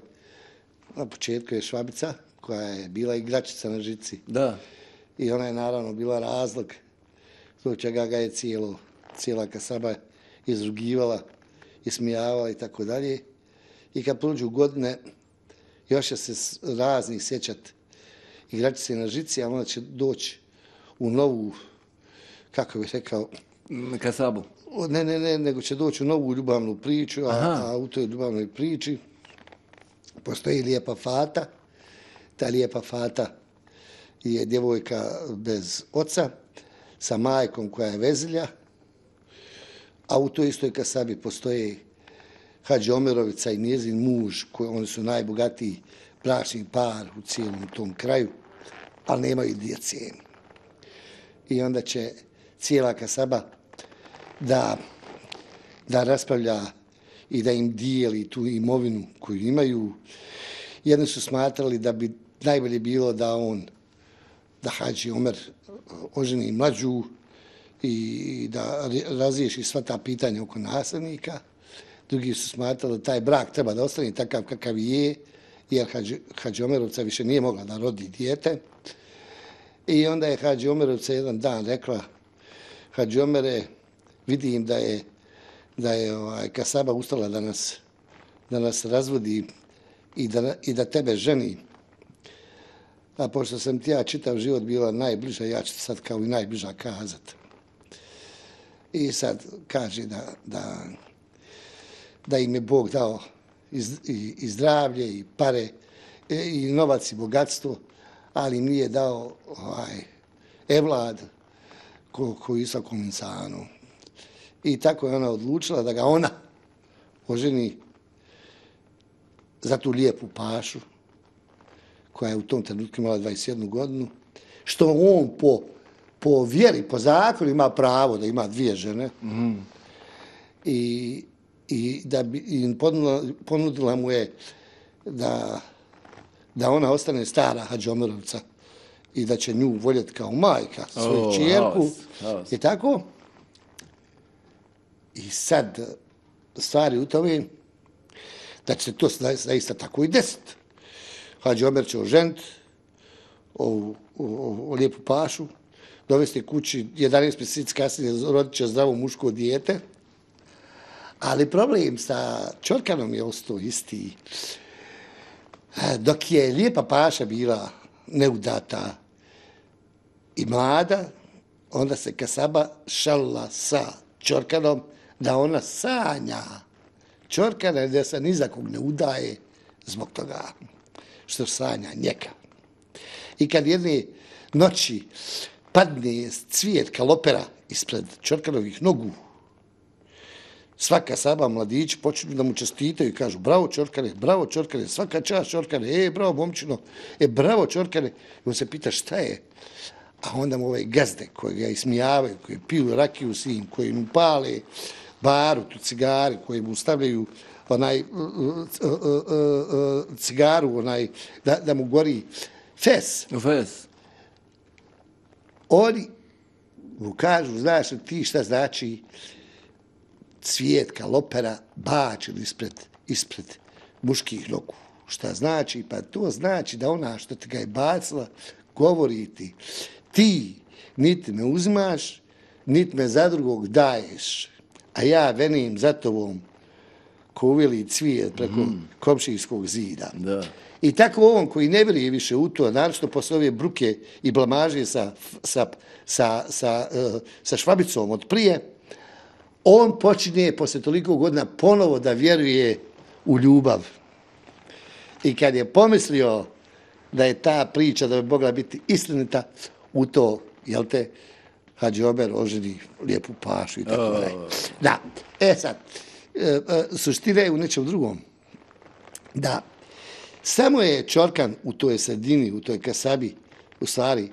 Na početku je švabica, koja je bila igračica na žici. Da. I ona je naravno bila razlog zbog čega ga je cijelo, cijela kasaba izrugivala, ismijavala i tako dalje. I kad prođu godine, još će se s- razni sjećat igračice na žici, a onda će doći u novu, kako bih rekao, Mm, Kasabu. o, ne, ne, ne, nego će doći u novu ljubavnu priču, a, Aha. a u toj ljubavnoj priči postoji lijepa fata. Ta lijepa fata je djevojka bez oca, sa majkom koja je vezilja, a u toj istoj kasabi postoji Hadži Omerovica i njezin muž, koji, oni su najbogatiji bračni par u cijelom tom kraju, ali nemaju djece. I onda će cijela kasaba da, da raspravlja i da im dijeli tu imovinu koju imaju. Jedni su smatrali da bi najbolje bilo da on, da Hadži Omer oženi mlađu i da razriješi sva ta pitanja oko nasljednika. Drugi su smatrali da taj brak treba da ostane takav kakav je, jer Hadži, Hadži Omerovca više nije mogla da rodi dijete. I onda je Hadži Omerovca jedan dan rekla: Hadži Omere, vidim da je, da je ovaj, Kasaba ustala da nas, da nas razvodi i da, i da tebe ženi. A pošto sam ti ja čitav život bila najbliža, ja ću sad kao i najbliža kazat. I sad kaže da, da, da im je Bog dao i, i, i zdravlje, i pare, i, i novac, i bogatstvo, ali im nije dao ovaj, evlad ko, ko Isakom insanu. I tako je ona odlučila da ga ona oženi za tu lijepu pašu, koja je u tom trenutku imala dvadeset jednu godinu, što on po, po vjeri, po zakonu ima pravo da ima dvije žene. Mm. I, i da bi im ponudila, ponudila mu je da, da ona ostane stara Hadži Omerovca i da će nju voljeti kao majka, svoju oh, čijerku. I tako. I sad stvari u tome da će se to zaista tako i desiti. Hadži Omer će oženiti ovu, ovu lijepu pašu, dovesti kući, jedanaest mjeseci kasnije rodit će zdravo muško dijete, ali problem sa Čorkanom je ostao isti. Dok je lijepa paša bila neudata i mlada, onda se Kasaba šalila sa Čorkanom da ona sanja Čorkana, da se ni za kog ne udaje zbog toga što sanja njega. I kad jedne noći padne cvijet kalopera ispred Čorkanovih nogu, svaka Saba mladići počinu da mu čestitaju i kažu: bravo Čorkane, bravo Čorkane, svaka čast Čorkane, e, bravo momčino, e, bravo Čorkane. I on se pita šta je. A onda mu ove gazde koje ga ismijavaju, koje piju rakiju s njim, koji mu pale baru, tu cigari, koji mu stavljaju onaj uh, uh, uh, uh, cigaru, onaj, da, da mu gori fes. Fes. Oni mu kažu: znaš li ti šta znači cvijet kalopera bačen ispred, ispred muških nogu? Šta znači? Pa to znači da ona što ti ga je bacila govori ti: ti niti me uzimaš, niti me za drugog daješ, a ja venim za tobom ko uveli cvijet preko mm. komšijskog zida. Da. I tako on koji ne vjeruje više u to, naročito posle ove bruke i blamaže sa, sa, sa, sa, uh, sa Švabicom od prije, on počinje posle toliko godina ponovo da vjeruje u ljubav. I kad je pomislio da je ta priča da bi mogla biti istinita, u to, jel te, Hadži Omer oženi lijepu pašu i tako dalje. Oh. Da, e sad, e, e, suština je u nečem drugom. Da, samo je Čorkan u toj sredini, u toj Kasabi, u stvari,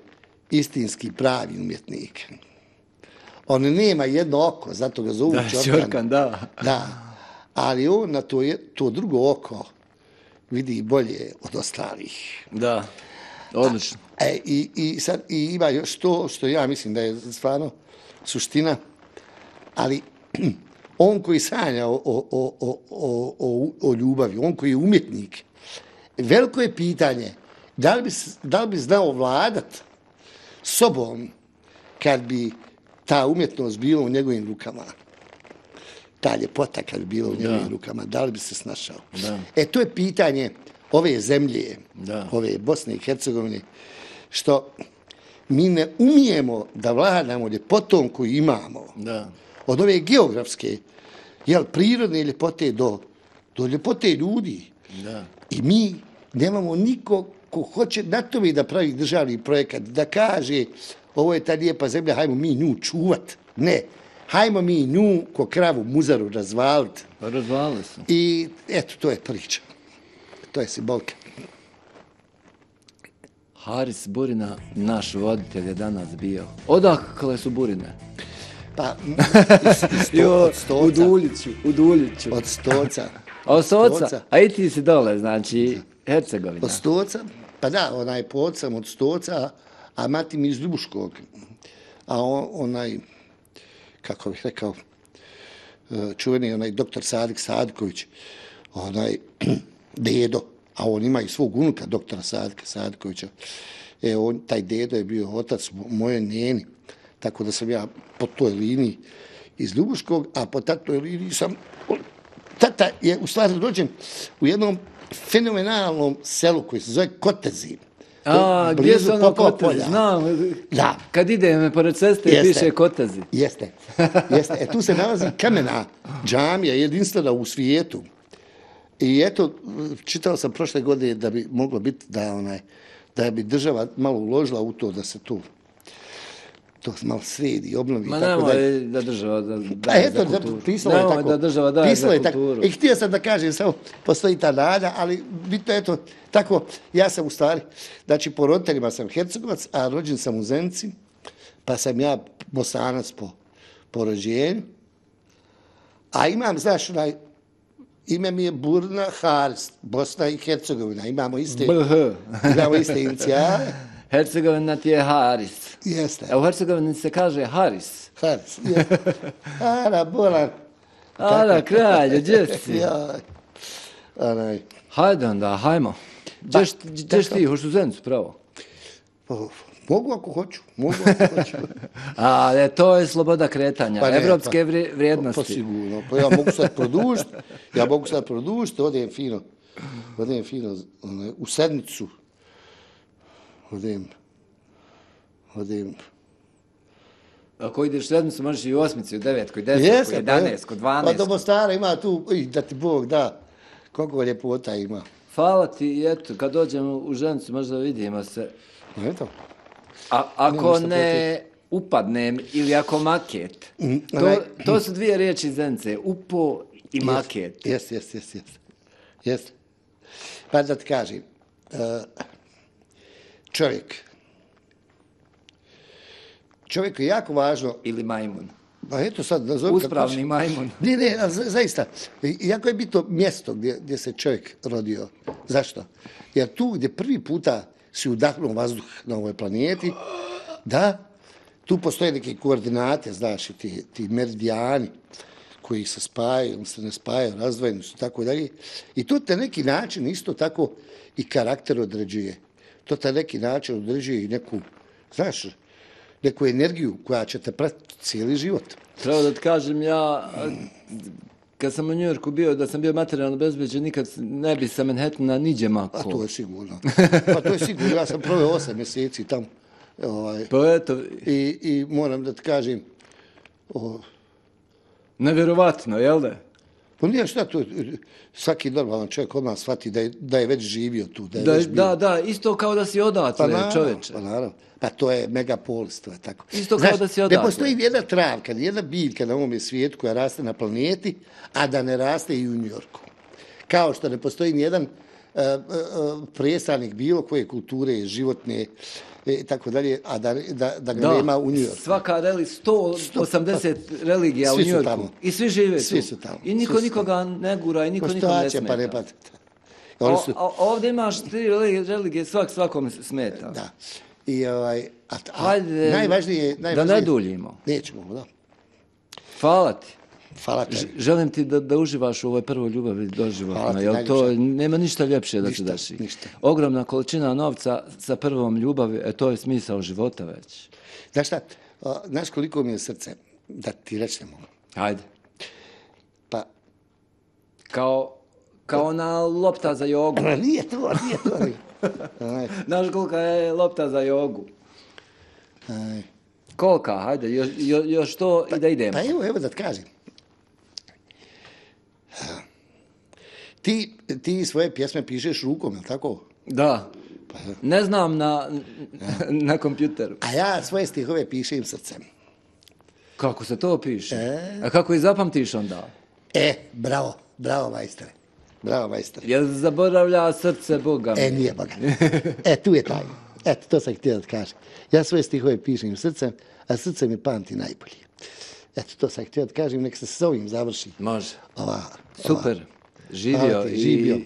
istinski pravi umjetnik. On nema jedno oko, zato ga zovu da, Čorkan. Čorkan, da. Da, ali on na to, je, to drugo oko vidi bolje od ostalih. Da, odlično. A, e, i, i, sad, I ima još to što ja mislim da je stvarno suština, ali on koji sanja o, o, o, o, o, o ljubavi, on koji je umjetnik, veliko je pitanje da li bi, da li bi znao vladat sobom kad bi ta umjetnost bila u njegovim rukama. Ta ljepota kad bi bila u njegovim da. rukama, da li bi se snašao? Da. E, to je pitanje ove zemlje, da. ove Bosne i Hercegovine, što mi ne umijemo da vladamo ljepotom koju imamo. Da. Od ove geografske, jel, prirodne ljepote do, do ljepote ljudi. Da. I mi nemamo nikog ko hoće na tome da pravi državni projekat, da kaže ovo je ta lijepa zemlja, hajmo mi nju čuvat. Ne, hajmo mi nju ko kravu muzaru razvaliti. Razvalili su. I eto, to je priča. To je simbolka. Haris Burina, naš voditelj, je danas bio. Odakle su Burine? Pa, iz, iz sto, Jo, od u Stoca. Duljiću, u Duljiću. Od Stoca. A od Stoca? Stoca. A i ti si dole, znači, Hercegovina. Od Stoca, pa da, onaj pod sam od Stoca, a mati mi iz Ljubuškog. A on, onaj, kako bih rekao, čuveni onaj doktor Sadik Sadiković, onaj dedo, a on ima i svog unuka, doktora Sadika Sadikovića. E, on, taj dedo je bio otac moje njeni, tako da sam ja po toj liniji iz Ljubuškog, a po tatoj liniji sam, tata je u stvari rođen u jednom fenomenalnom selu koji se zove Kotezi. A, gdje su ono Kotezi? Znam, da. Kad idem pored ceste Jeste. piše Kotezi. Jeste, jeste. E, tu se nalazi kamena džamija, jedinstvena u svijetu. I eto, čitao sam prošle godine da bi moglo biti da, onaj, da bi država malo uložila u to da se tu to malo sredi, obnovi. Ma tako nemoj da država da daje pa eto, za kulturu. pisalo je Nemoj tako. da država daje pisalo za je tako. kulturu. I htio sam da kažem, samo postoji ta nada, ali bitno eto, tako, ja sam u stvari, znači po roditeljima sam Hercegovac, a rođen sam u Zenici, pa sam ja Bosanac po, po rođenju, a imam, znaš, onaj, ime mi je Burna Haris, Bosna i Hercegovina, imamo iste, B H. imamo iste inicijale. Hercegovina ti je Haris. Jeste. A u Hercegovini se kaže Haris. Haris, jeste. Ara, Bolan. Ara, kralje, gdje si? Jaj. Onaj. Hajde onda, hajmo. Gdješ gdješ ti, hoćeš u Zenicu, pravo? O, mogu ako hoću, mogu ako hoću. A, e, to je sloboda kretanja, Pa ne, evropske pa- vri- vrijednosti. Pa sigurno, pa ja mogu sad produžiti, ja mogu sad produžiti, odem fino, odem fino onaj, u sedmicu, odem, odem, Ako ideš u sedmicu, možeš i u osmici, u devetku, i desetku, Jeste, i pa jedanestku, je. Pa dvanaestku. do Mostara ima tu, i da ti Bog da, koliko ljepota ima. Hvala ti, i eto, kad dođemo u Ženicu, možda vidimo se. Eto. A ako ništa ne upadnem ili ako maket, Mm, to, onaj- to su dvije riječi iz Zenice, upo i maket. Jeste, jeste, jeste, jeste. Jeste. Pa da ti kažem, uh, čovjek, čovjeku je jako važno, Ili majmun. pa eto sad, nazovi kako Uspravni hoćeš. majmun. Ne, ne, a za- zaista, i- jako je bitno mjesto gdje, gdje se čovjek rodio. Zašto? Jer tu gdje prvi puta si udahnuo vazduh na ovoj planeti, da, tu postoje neke koordinate, znaš, i ti, ti meridijani koji se spajaju, ili se ne spajaju, razdvojeni su, tako dalje. I to te neki način isto tako i karakter određuje. To te neki način određuje i neku, znaš, neku energiju koja će te pratiti cijeli život. Treba da ti kažem, ja, a, kad sam u Njujorku bio, da sam bio materijalno bezbeđen, nikad ne bi sa Manhattana niđe mako. A to je sigurno. Pa to je sigurno. Ja sam proveo osam mjeseci tamo. Ovaj, Pa eto, i, I moram da ti kažem, o, nevjerovatno, jel da? pa nije šta to, svaki normalan čovjek odmah shvati da je, da je već živio tu. Da, je Da, već bio. da, da, isto kao da si odatle, naravno, čoveče. Pa naravno. Pa to je megapolis, to je tako. Isto kao da si ne odatle. postoji jedna travka, jedna biljka na ovom svijetu koja raste na planeti, a da ne raste i u Njujorku. Kao što ne postoji nijedan uh, uh, predstavnik bilo koje kulture, životne i tako dalje, a da, da, da ga Da, nema u Njujorku. svaka reli, sto osamdeset religija u Svi su Njujorku. tamo. I svi žive Svi tu. su tamo. I niko Svi su nikoga ne gura i niko nikom ne Postojaće, smeta. pa ne patite. Oni su, O, o, ovdje imaš tri religije, religije, svak svakom smeta. da. I ovaj, a, a Hajde, najvažnije, da najvažnije, ne duljimo. Nećemo, da. Hvala ti. Hvala te. Ž- Želim ti da, da uživaš u ovoj prvoj ljubavi Hvala doživotno, ti, jer to najljepše. nema ništa ljepše da Ništa, se desi. ništa. Ogromna količina novca sa prvom ljubavi, e, to je smisao života već. Znaš šta, a, znaš koliko mi je srce, da ti rečemo. Hajde. Pa, Kao, kao ona lopta za jogu. nije to, nije to. ali, Aj, Znaš kolika je lopta za jogu? aj. Kolika, hajde, još, jo- još to i da idemo. Pa evo, evo da ti kažem. Ti, ti svoje pjesme pišeš rukom, je li tako? Da. Ne znam na, na kompjuteru. A ja svoje stihove pišem srcem. Kako se to piše? E? A kako i zapamtiš onda? E, bravo, bravo majstore. Bravo majstore. Jel zaboravlja srce Boga? E, nije Boga. E, tu je taj. Eto, to sam htio da ti kažem. Ja svoje stihove pišem srcem, a srce mi pamti najbolje. Eto, to sam htio da kažem, nek se s ovim završi. Može. Ova, Super. Hvala Živio ti, i živio.